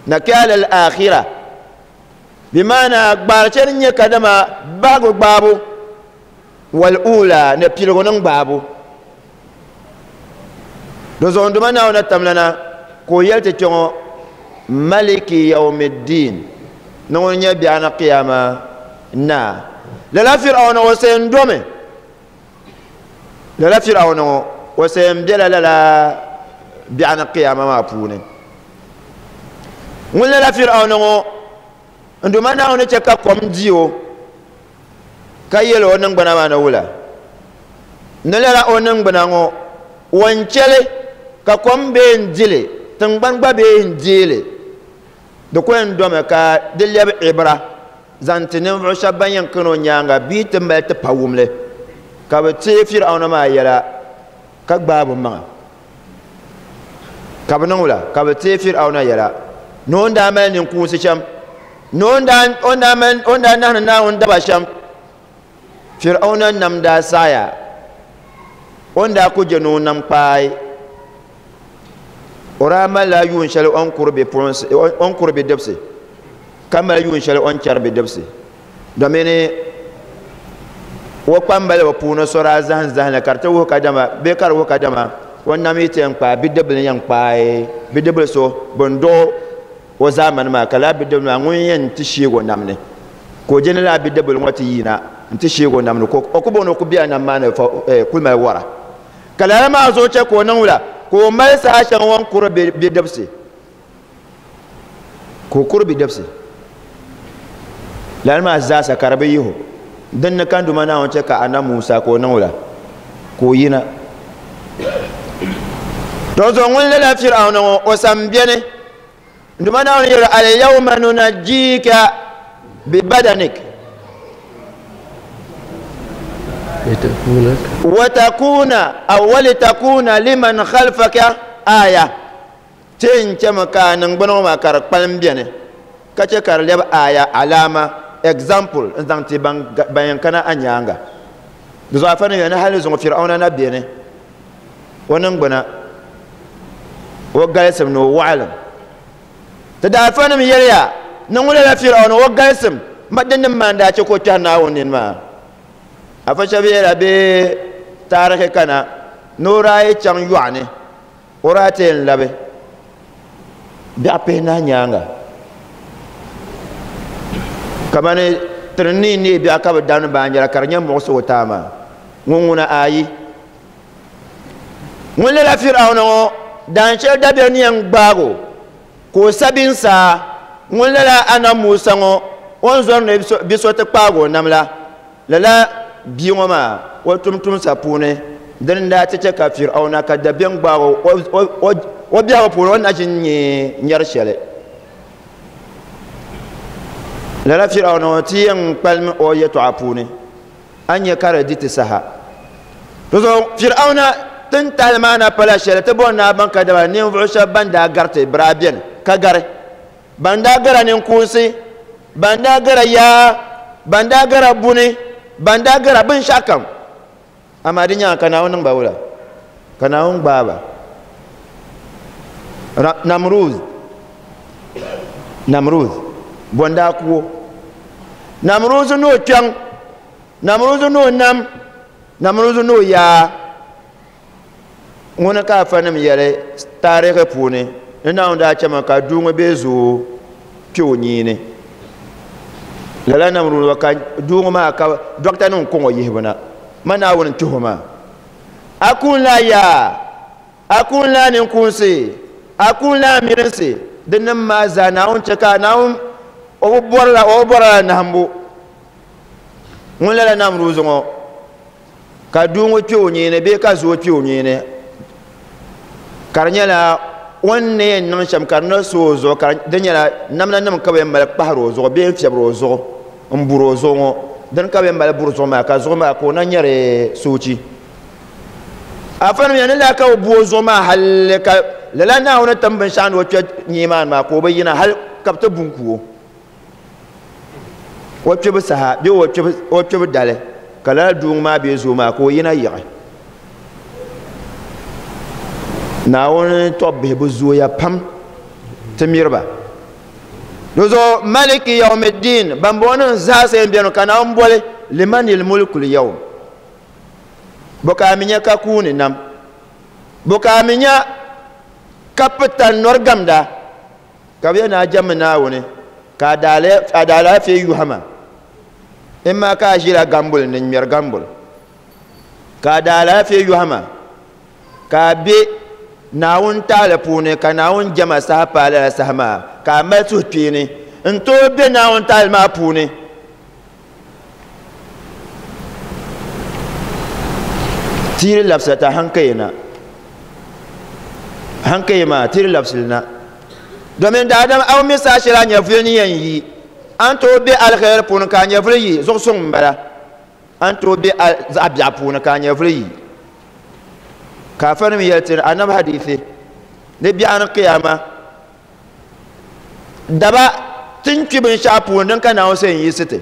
Nakal al-akhira bimaana gbaari shɛli din nyɛ kadama bahigu gbaabu wal-ula ni piligu niŋ gbaabu. Di zuɣu n Duuma Naawuni tamlana ka o yɛli ti kpɛŋɔ Maliki yawmiddin ni ŋun nyɛ biɛɣuni qiyama naa. Lala Fir'auna o sa yɛn domi. Lala Fir'auna ŋɔ o sa yɛn bela lala biɛɣuni qiyama maa puuni. Ŋun lala Fir'auna ŋɔ n Duuma Naawuni chɛ ka kom di o ka yɛli o niŋgbuna maa ni wula. Ni lala o niŋgbuna ŋɔ o n chɛli ka kom bee n dili tiŋgbani gba bee n deeli di ku yɛn domi ka di lɛbi ibra zaŋ ti ninvuɣu shɛba ban yɛn kani o nyaaŋa bee ti mali ti pa wumli ka bɛ teei Fir'auna maa yɛla ka gbaai bɛ maŋa ka bɛ niŋ wula ka bɛ teei Fir'auna yɛla ni o ni daa mali ninkuunsi shɛm ni o ni daa nahini Naawuni daba shɛm. Fir'auna nam daa saɣaya o ni daa ku je ni o nam kpaai o daa malila yuun shɛli o ni kuri bipuɣinsi o ni kuri bidibisi ka mali yuun shɛli o ni chɛri bidibisi domini o kpambaliba puuni so daa zahim zahimli ka di ti wuhi kadama bee ka di wuhi kadama O nam yi ti yɛn kpaai bidibili yɛn kpaai bidibili so bin dɔɣi o zaamani maa ka lala bidibili maa ŋun yɛn ti sheegi o nam ni ka o je ni lala bidibili ŋɔ ti yina n ti sheegi o nam ni ka o ku booni o ku bela nam maa ni kuli mali wara ka lala maa zuɣu che ka o niŋ wula ka o mali saha shɛŋa o ni kuri bidibisi ka o kuri bidibisi lala maa zaasa ka di bi yihi o din ni ka Duuma Naawuni che ka Annabi Musa ka o niŋ wula ka o yina to zuɣu ŋun lala Fir'auna ŋɔ o sam beni Duuma Naawuni yɛli al-yawma nunajjika bibadanik wa takuna aw walitakuna liman khalfaka aya ti n chɛmi ka a niŋgbuna ŋɔ maa ka di kpalim beni ka chɛ ka di lɛbi aya alama example n zaŋ ti ban yɛn kana a nyaanga di zuɣu afa ni yɛli ni hali zuŋɔ Fir'auna na beni o niŋgbuna o galisim ni o waɣilim ti daafanim yɛliya ni ŋun lala Fir'auna o galisim ma din nim maa n daa chɛ ka o kpɛhi Naawuni nini maa afa shɛba yɛla bee taarihi kana ni o daa yi chaŋ yɔɣu ni o daa ti yɛn labi biɛɣu pihinahi nyaanga kamani tiri ni neei biɛɣu ka bi damdi baanjira ka di nyɛ muɣusigu taa maa ŋun ŋuna ayi ŋun lala Fir'auna ŋɔ daan shɛli dabiɛm ni yɛn gbaagi o ka o sabi n saa ŋun lala Annabi Musa ŋɔ o ni zɔri ni bi so ti kpaagi o nam la lala bia ŋɔ maa o tumtumsa puuni dini n daa ti chɛ ka Fir'auna ka dabiɛm gbaagi o o biɛhigu puuni o ni na ʒin nyɛ nyɛri shɛli lala Fir'auna ŋɔ ti yɛn kpalim o yɛtɔɣa puuni a nyɛ ka di di ti saha zuɣu Fir'auna tin tahali maa na pala shɛli ti bɔri ni a baŋ ka dama ninvuɣu shɛba ban daa gariti bɛ daa beni ka gari ban daa gara ninkuunsi ban daa gara yaa ban daa gara buni ban daa gara binshɛɣu kam amaa di nyaanga ka Naawuni niŋ ba wula ka Naawuni gbaai ba Namruz Namruz bɔ n daa ku o Namruz ni o kpɛŋ Namruz ni o nam Namruz ni o yaa ŋuni ka afanim yɛli taarihi puuni ni Naawuni daa chɛmi ka duu ŋɔ bee zooi kpe o nyiini lala Namruz ŋɔ ka duu ŋɔ maa ka dɔkta nim kɔŋ o yihibu na ma Naawuni n-kpihi o maa a kuun la yaa a kuun la ninkuunsi a kuun la mirinsi din nim maa zaa Naawuni chɛ ka Naawuni o bi bɔrila o bi bɔrila nahimbu ŋun lala Namruz ŋɔ ka duu ŋɔ kpe o nyiini bee ka zooi kpe o nyiini ka di nyɛla o ni ni yɛn niŋ shɛm ka di ni so o zuɣu ka di nyɛla namda nim ka bi yɛn mali kpahari o zuɣu bee n fiɛbiri o zuɣu n buri o zuɣu ŋɔ dini ka bi yɛn mali buri zuɣu maa ka zuɣu maa ka o na nyɛri soochi afa nim yɛn ni laa ka bi bu o zuɣu maa hali ka lala Naawuni tim binshaɣu ni o kpɛ nyee maa ni maa ka o bi yina hali ka bi ti bu n ku o o kpɛbu saha bee o kpɛbu dali ka lala duu ŋɔ maa bee zoo maa ka o yina yiɣi Naawuni tɔbbihi bi zooya pam ti miriba di zuɣu maliki yawmiddin bambɔŋɔnim zaasa yɛn beni ka Naawuni boli limanil mulkul yawm bɔ ka a mi nya ka kuuni nam bɔ ka a mi nya ka pita nɔri gamda ka bɛ yɛn ni a jɛmmi Naawuni ka a daalaafee yuha ma in maa ka a ʒila gambuli ni n-ŋmɛri gambuli ka a daalaafee yuha ma ka a be Naawuni taali puuni ka Naawuni jɛma saha paai lala saha maa ka a mali suhukpeeni n-tooi be Naawuni taali maa puuni tiiri labisila ta hankaya na hankaya maa tiiri labisili na domin daadam a mi saha shɛli a nyɛvuli ni yɛn yi a ni tooi be aliheri puuni ka a nyɛvuli yi zuɣusuŋ m-bala a ni tooi be zaɣ biɛɣu puuni ka a nyɛvuli yi ka afanim yɛli ti anabi hadithi ni biɛɣu ni kiyama daba ti ni kpi binshɛɣu puuni din ka Naawuni sani yiɣisi ti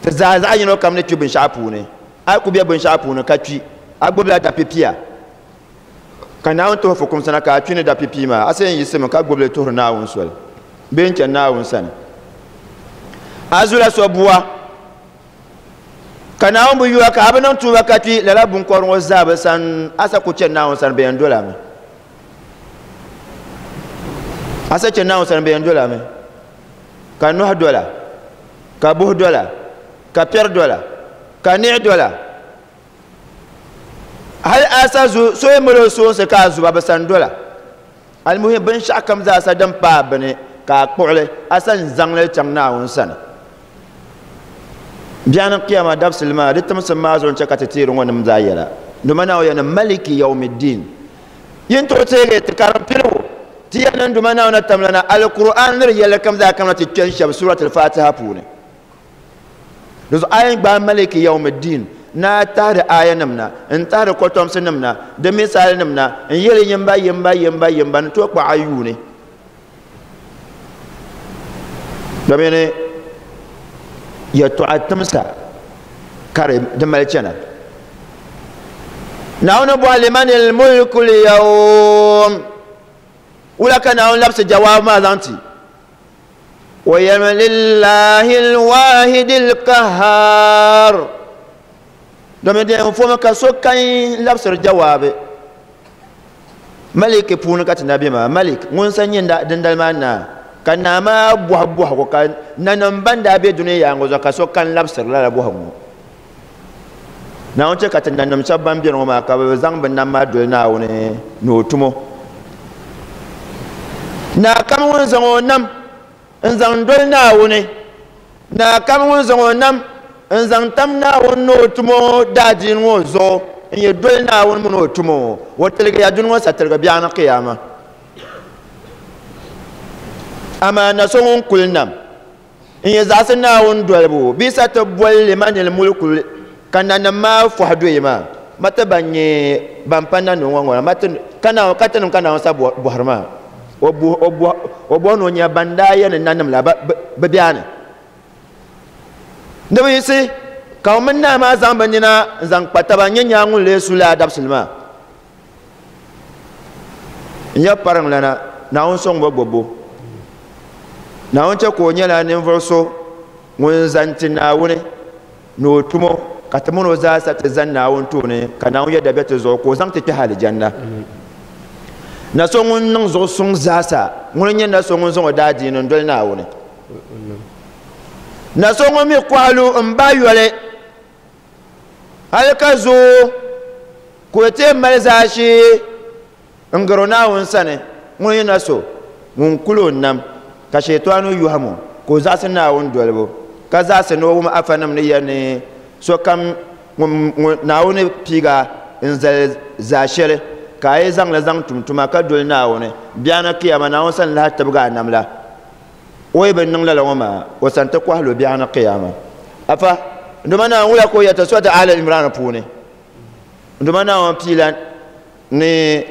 ti zaa zaɣ yino kam ni kpi binshɛɣu puuni a yi ku be binshɛɣu puuni ka kpi a gbubila dapipia ka Naawuni tuhi fukumsi na ka a kpi ni dapipia maa a sani yiɣisimi ka gbubili tuhiri Naawuni soli bee n-chani Naawuni sani a zula so bua Ka Naawuni bi yuwa ka a bi niŋ tuuba ka kpi lala binkɔbiri ŋɔ zaa bi san a sa ku chɛ Naawuni sani bɛ yɛn dolami. A sa chɛ Naawuni sani bɛ yɛn dolami. Ka nɔhi dola, ka buhi dola, ka piɛri dola, ka niɣi dola. Hali a sa zu so yi mali o soonsi ka a zuba bi san dola. Almuhim binshɛɣu kam zaa sa din paai bini ka a kpuɣili a sa n-zaŋli chaŋ Naawuni sani. Biɛɣuni kiyama dabisili maa di timsim maa zuɣu n-chɛ ka ti teeri ŋɔ nim zaa yɛla. Duma Naawuni yɛli ni Maliki Yawmiddin. Yi ni tooi teegi ti karim piligu ti yɛli ni Duma Naawuni na tamla na Alkur'aan ni di yɛlli kam zaa kamina ti kpɛn shɛba Surat Al-Fatiha puuni. Di zuɣu a yɛn gbaai Maliki Yawmiddin ni a tahiri aayanim na, n-tahiri kɔtomsinim na, di misaalinim na, n-yɛli yimba, yimba, yimba, yimba ni tooi kpaɣi a yuuni. Domini yɛtɔɣa timsa ka di mali chana. Naawuni bɔhi limanil mulku liyawm. Wula ka Naawuni labisi jawaabu maa zaŋ ti? O yɛlimi lillahi lwahidi lkahar. Domin di yɛn fomi ka so kan labisiri jawaabi. Maliki puuni ka ti na be maa. Malik ŋun sa nyɛ dindali maa naa. Ka naa maa bɔhi bɔhigu ka nanim ban daa be dunia yaaŋa zuɣu ka so kan labisiri lala bɔhigu ŋɔ. Naawuni chɛ ka ti nanim shɛba ban beni ŋɔ maa ka bɛ zaŋ bɛ nam maa doli Naawuni ni o tumo. Naa kam ŋun zaŋ o nam n-zaŋ doli Naawuni, naa kam ŋun zaŋ o nam n-zaŋ tam Naawuni ni o tumo daadiini ŋɔ zuɣu n-yi doli Naawuni mini o tumo, o tiligiya duni ŋɔ sa tiligi biɛɣuni kiyama. Amaa na so ŋun kuli nam n-yi zaɣisi Naawuni dolibu bee sa ti boli limanil mulku ka nanim maa fɔhi doyi maa, ma ti ban nyɛ ban pa nanim ŋɔ ŋɔ la, ma ti ka Naawuni, ka tinim ka Naawuni sa bɔhiri maa. O bɔhi ni o nya ban daa yɛli ni nanim la bi be a ni. Ni bi yiɣisi ka o mini naa maa zaŋ bɛ nina n-zaŋ kpa taba n-nyɛ nyaa ŋun lee su lala dabisili maa. N ya pariŋlana, Naawuni sɔŋ ba gbubbu. Naawuni chɛ ka o nyɛla ninvuɣ so ŋun zani ti Naawuni ni o tumo, ka ti min o zaa sa ti zani Naawuni tooni, ka Naawuni yɛda be ti zuɣu ka o zaŋ ti kpɛhi alijanna. Na so ŋun niŋ zuɣu suŋ zaasa, ŋuni n-nyɛ na so ŋun zaŋ o daadiini n-doli Naawuni. Na so ŋun mi kɔhilu m-bahi yoli hali ka zooi ka o ti mali zaashee n-gari o Naawuni sani, ŋuni n-nyɛ na so ŋun kul o nam ka Shɛtɔɣani yɔhim o ka o zaɣisi Naawuni dolibu, ka zaɣisi ni o wum afanim ni yɛli ni sokam ŋun Naawuni piig a n-zali zaashɛli ka a yi zaŋ li zaŋ tum tuma ka doli Naawuni, biɛɣuni kiyama Naawuni sani lahi tibigi a nam la. O yi bi niŋ lala ŋɔ maa, o sani ti kɔhi lu biɛɣuni kiyama. Afa, Nduma Naawuni wula ka o yɛli ti Suratu Aali Imran puuni? Nduma Naawuni piila ni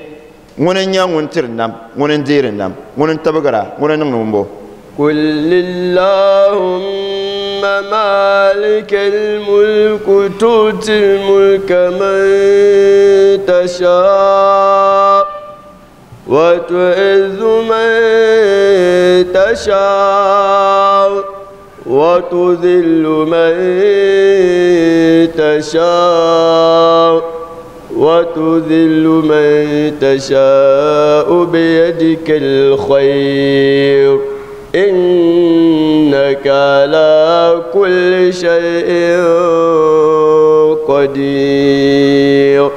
ŋuni n-nyɛ ŋun tiri nam, ŋuni n-deeri nam, ŋuni n-tibigira, ŋuni n-niŋdi ŋumbo. Qul illahumma malikal mulku tu'til mulka man tasha wa tu'izzu man tasha wa tudhillu man tasha wa tudhillu man tasha'u biyadikal khayr innaka ala kulli shay'in qadir.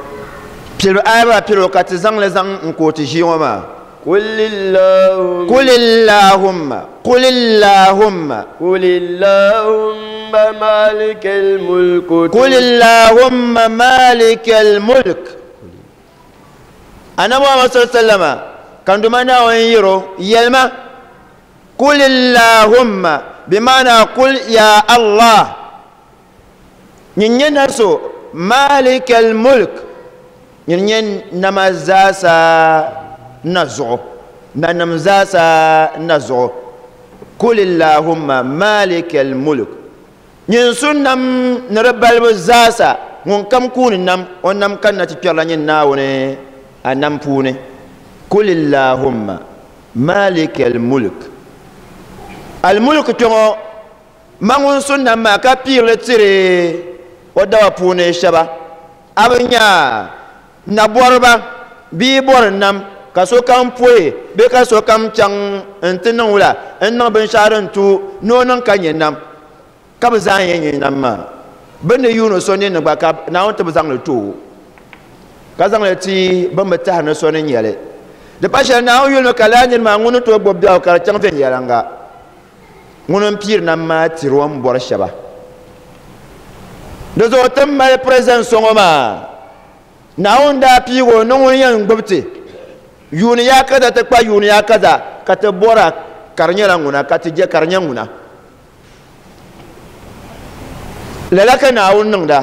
Piligu aya maa piligu ka ti zaŋ li zaŋ n-kooti ʒii ŋɔ maa. Qul illahumma. Qul illahumma. Qul illahumma. Qul illahumma malikal mulk. Qul illahumma malikal mulk. Annabi Muhammad sallallahu alaihi wasallam kan duma Naawuni yiro yɛlima Qul illahumma bi maana qul ya Allah. Nyin nyɛ na so malikal mulk, nyin nyɛ nama zaasa na zuɣu, nanim zaasa na zuɣu. Qul illahumma malikal mulk, nyin su nam ni di balibu zaasa, ŋun kam kuuni nam, o nam kanna ti kpɛrila nyin Naawuni a nam puuni. Qul illahumma malikal mulk. Al mulk kpɛŋɔ ma ŋun su nam maa ka piirili tiri O dawa puuni shɛba a bi nya nabɔriba bia bɔri nam ka sokam poyi bee ka sokam chaŋ n-ti niŋ wula n-niŋ binshɛɣu din tu ni o niŋ ka nyɛ nam ka bɛ zaa yɛn nyɛ nam maa bɛ ni yuuni so ninni gba ka Naawuni ti bi zaŋ li ti o ka zaŋ li ti bɛn bi tahiri ni so ni nyɛ li. Di pa shɛli Naawuni yulimi ka lala niri maa ŋun ni tooi gbubi biɛhigu ka di chaŋ viɛnyɛliŋga. Ŋuni m-piiri nam maa tiri o ni bɔri shɛba. Di zuɣu ti ni mali president so ŋɔ maa, Naawuni daa piigi o ni ŋuni yɛn gbubi ti yuuni ya kaza ti kpa yuuni ya kaza ka ti bɔra ka di nyɛla ŋuna ka ti je ka di nyɛ ŋuna. Lala ka Naawuni niŋda.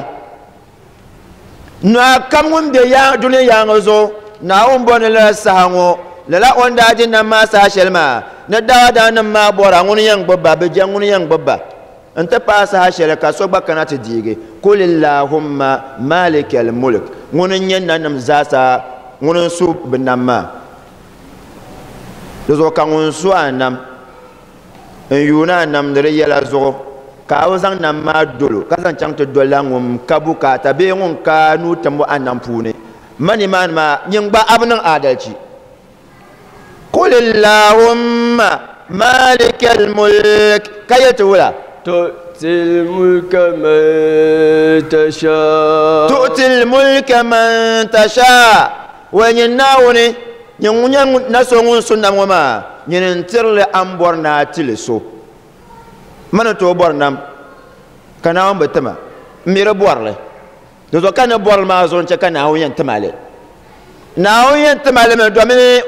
Naa kam ŋun be dunia yaaŋa zuɣu, Naawuni bɔri ni lala saha ŋɔ, lala o ni daa di nam maa saha shɛli maa, ni daadamnim maa bɔra ŋuni yɛn gbubi ba, bɛ je ŋuni yɛn gbubi ba nti paai saha shɛli ka so gba kana ti deegi. Kul illahumma malikal mulk, ŋuni n-nyɛ nanim zaasa ŋuni n-su bɛ nam maa. Di zuɣu ka ŋun su a nam n-yuuni a nam ni di yɛla zuɣu, ka a bi zaŋ nam maa dol o, ka zaŋ chaŋ ti dolila ŋun ka bukaata bee ŋun ka nuu timbu a nam puuni. Ma nimaani maa, nyin gba a bi niŋ aadalichi. Qul illahumma malikal mulk, ka yɛli ti wula? Tu'til mulka man tasha. Tu'til mulka man tasha. Wai nyin Naawuni, nyin ŋun nyɛ na so ŋun su nam ŋɔ maa, nyini n-tiri li a ni bɔri ni a ti li so. Ma ni tooi bɔri nam, ka Naawuni bi ti ma. M mi di bɔri li. Di zuɣu ka ni bɔri li maa zuɣu n-chɛ ka Naawuni yɛn ti ma li. Naawuni yɛn ti ma li mi domin n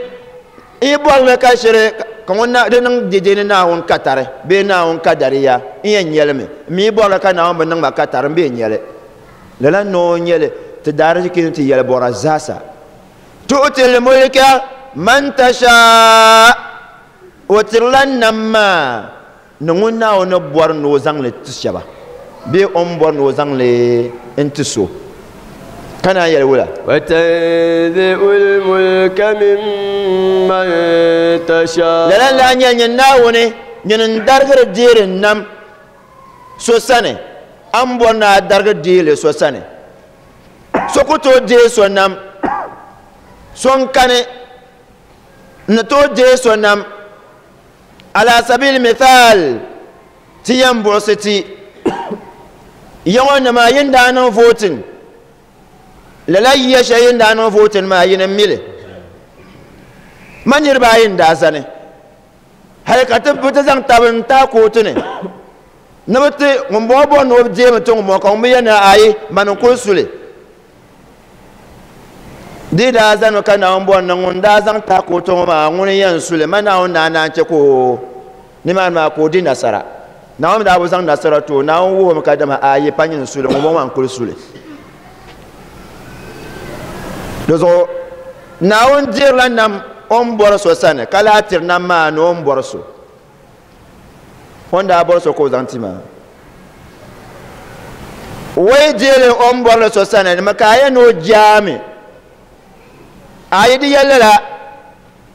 yi bɔri li ka shiri ka ŋun na di niŋ dɛdɛ ni Naawuni ka tari bee Naawuni ka dariya, n yɛn nya li mi. M mi yi bɔri li ka Naawuni bi niŋ ma ka tari, m bee nya li. Lala noo n-nyɛ li ti daariziki ni ti yɛli bɔra zaasa. Tu'til mulka man tasha, o tirila nam maa ni ŋun Naawuni ni bɔri ni o zaŋ li ti shɛba bee o ni bɔri ni o zaŋ li n-ti so. Ka naan yɛli wula? Wa tanzi'ul mulka mimman tasha. Lala n-daa nyɛli nyin Naawuni, nyini n-darigiri deeri nam so sani, a ni bɔri ni a darigi deei li so sani. So ku tooi deei so nam, so n-kani n-ni tooi deei so nam. Ala sabili mithal, ti yɛn buɣisi ti ya ŋɔ nima yi ni daa niŋ voting, lala yiya shɛli yi ni daa niŋ voting maa yi ni mi li. Ma niriba ayi n-daa zani, hali ka ti bi ti zaŋ tabi n-tahi kootu ni ni bi ti ŋun bɔŋɔ bɔri ni o deemi ti ŋun bɔŋɔ ka ŋun bi yɛli ni ayi mani n-kuli su li. Di daa zanimi ka Naawuni bɔri ni ŋun daa zaŋ tahi kootu ŋɔ maa ŋuni yɛn su li, ma Naawuni daa naan chɛ ka o nimaani maa ka o di nasara. Naawuni mi daa bi zaŋ nasara ti o, Naawuni wuhi o mi ka dama ayi pa nyini su li, ŋun bɔŋɔ maa n-kuli su li. Di zuɣu Naawuni dirila nam o ni bɔri so sani ka lahi tiri nam maa ni o ni bɔri so. O ni daa bɔri so ka o zaŋ ti maa. O yi deeli o ni bɔri li so sani, di mi ka a yɛn ni o jaami. A yi di yɛli lala,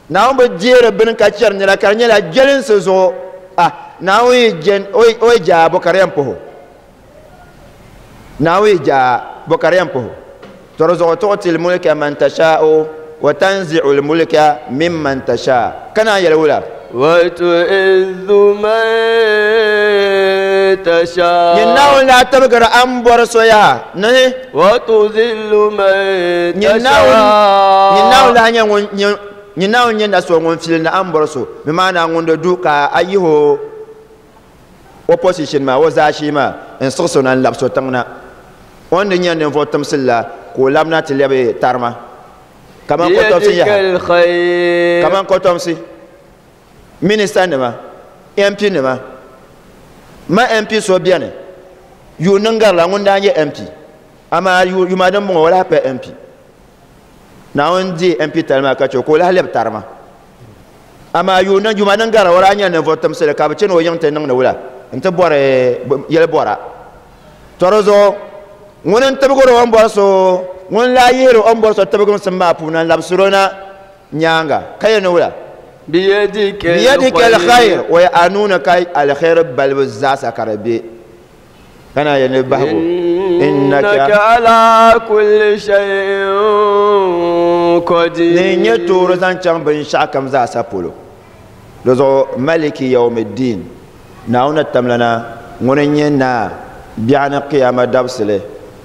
Naawuni bi deeri bini ka chɛri nira ka di nyɛla jɛlinsi zuɣu. Ah, Naawuni yi jɛn, o yi jaai bo ka di yɛn puhi o. Naawuni yi jaai bo ka di yɛn puhi o. To di zuɣu tuɣutil mulka man tashaa'u wa tanzi'ul mulka mimman tashaa. Ka naan yɛli wula? Wa tu'izzu man tashaa. Nyin Naawuni lahi tibigiri a ni bɔri so yaha ni. Wa tuzillu man Nyin tashaa. Nyin Naawuni lahi nyɛ ŋun, nyin, nyin Naawuni nyɛ na so ŋun filindi a ni bɔri so, bɛ maana ŋun di du ka a yihi o o position maa, o zaashee maa n-siɣisi o na n-labisi o tiŋ na. O ni di nya ninvuɣ timsili la, ka o labina ti lɛbi tarima. Kaman kɔtomsi yaha. Kaman kɔtomsi, minista nima, MP nima. Ma MP so beni, yuun niŋ garila ŋun daa nyɛ MP. Amaa yuma din bɔŋɔ o lahi pa MP. Naawuni deei MP tali maa ka che o ka o lahi lɛbi tarima. Amaa yuma din garila o daa nyɛla ninvuɣ timsili ka bɛ chani o yiŋ ti niŋdi wula nti bɔri yɛli bɔra. Tɔ di zuɣu ŋuni n-tibigiri o ni bɔri so, ŋuni n-lahi yihiri o ni bɔri so tibigimsim maa puuni n-labisiri o na nyaaŋa ka yɛli ni wula? Biyadika alkhair, o a nuu ni ka alkhairi balibu zaasa ka di be. Ka naan yɛli ni bahigu. إنك على كل شيء قدير ni nyɛ toori zaŋ chaŋ binshɛɣu kam zaasa polo di zuɣu maliki yawmiddin Naawuni tamlana ŋuni n-nyɛ naa biɛɣuni qiyama dabisili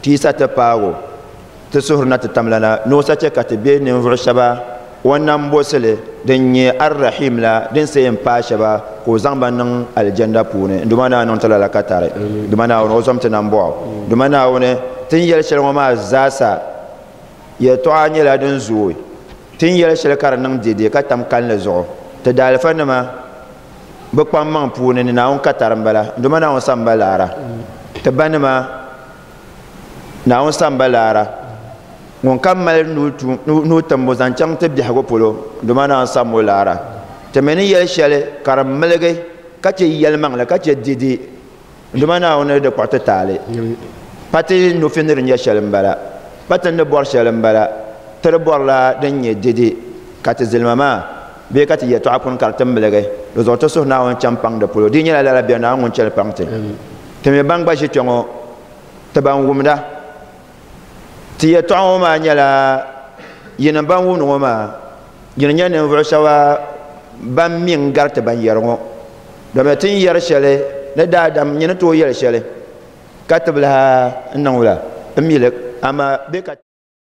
ti yi sa ti paagi o ti suhuri na ti tamlana ni o sa chɛ ka ti be ninvuɣ shɛba o ni nambɔsili din nyɛ Ar-Rahim la din sa yɛn paai shɛba ka o zaŋ ba niŋ Alijanda puuni. N Duuma Naawuni niŋ ti lala ka tari. Duuma Naawuni o zom ti nambɔɣu. Duuma Naawuni ti ni yɛli shɛli ŋɔ maa zaasa yɛltɔɣa nyɛla din zooi. Ti ni yɛli shɛli ka di niŋ dɛdɛ ka tam kalinli zuɣu ti daalifanima bɛ kpaŋmaŋ puuni ni Naawuni ka tari m-bala. N Duuma Naawuni sam ba laara. Ti banima Naawuni sam ba laara. Ŋun kam mali nuu timbu zaŋ chaŋ ti biɛhigu polo, dama Naawuni sam o laara. Ti mi ni yɛli shɛli ka di miligi ka chɛ yɛlimaŋli ka chɛ dɛdɛ, dama Naawuni di kpuɣi ti taali. Pa ti nufi ni di nyɛ shɛli m-bala, pa ti ni bɔri shɛli m-bala, ti di bɔrila din nyɛ dɛdɛ ka ti zilima maa bee ka ti yɛtɔɣa kuni ka di ti miligi. Di zuɣu ti suhu Naawuni chani paŋ di polo. Di yi nyɛla lala bɛ Naawuni ŋun chani paŋ ti. Ti mi ban gba ʒi kpe ŋɔ, ti ban wumda. Ti yɛtɔɣa ŋɔ maa nyɛla yinim ban wumdi ŋɔ maa, yini nyɛ ninvuɣu shɛba ban mi n-gari ti ban yɛri ŋɔ. Domi ti ni yɛri shɛli ni daadam nyini tooi yɛli shɛli ka ti bi lahi niŋ wula m-mi li, amaa bɛ ka.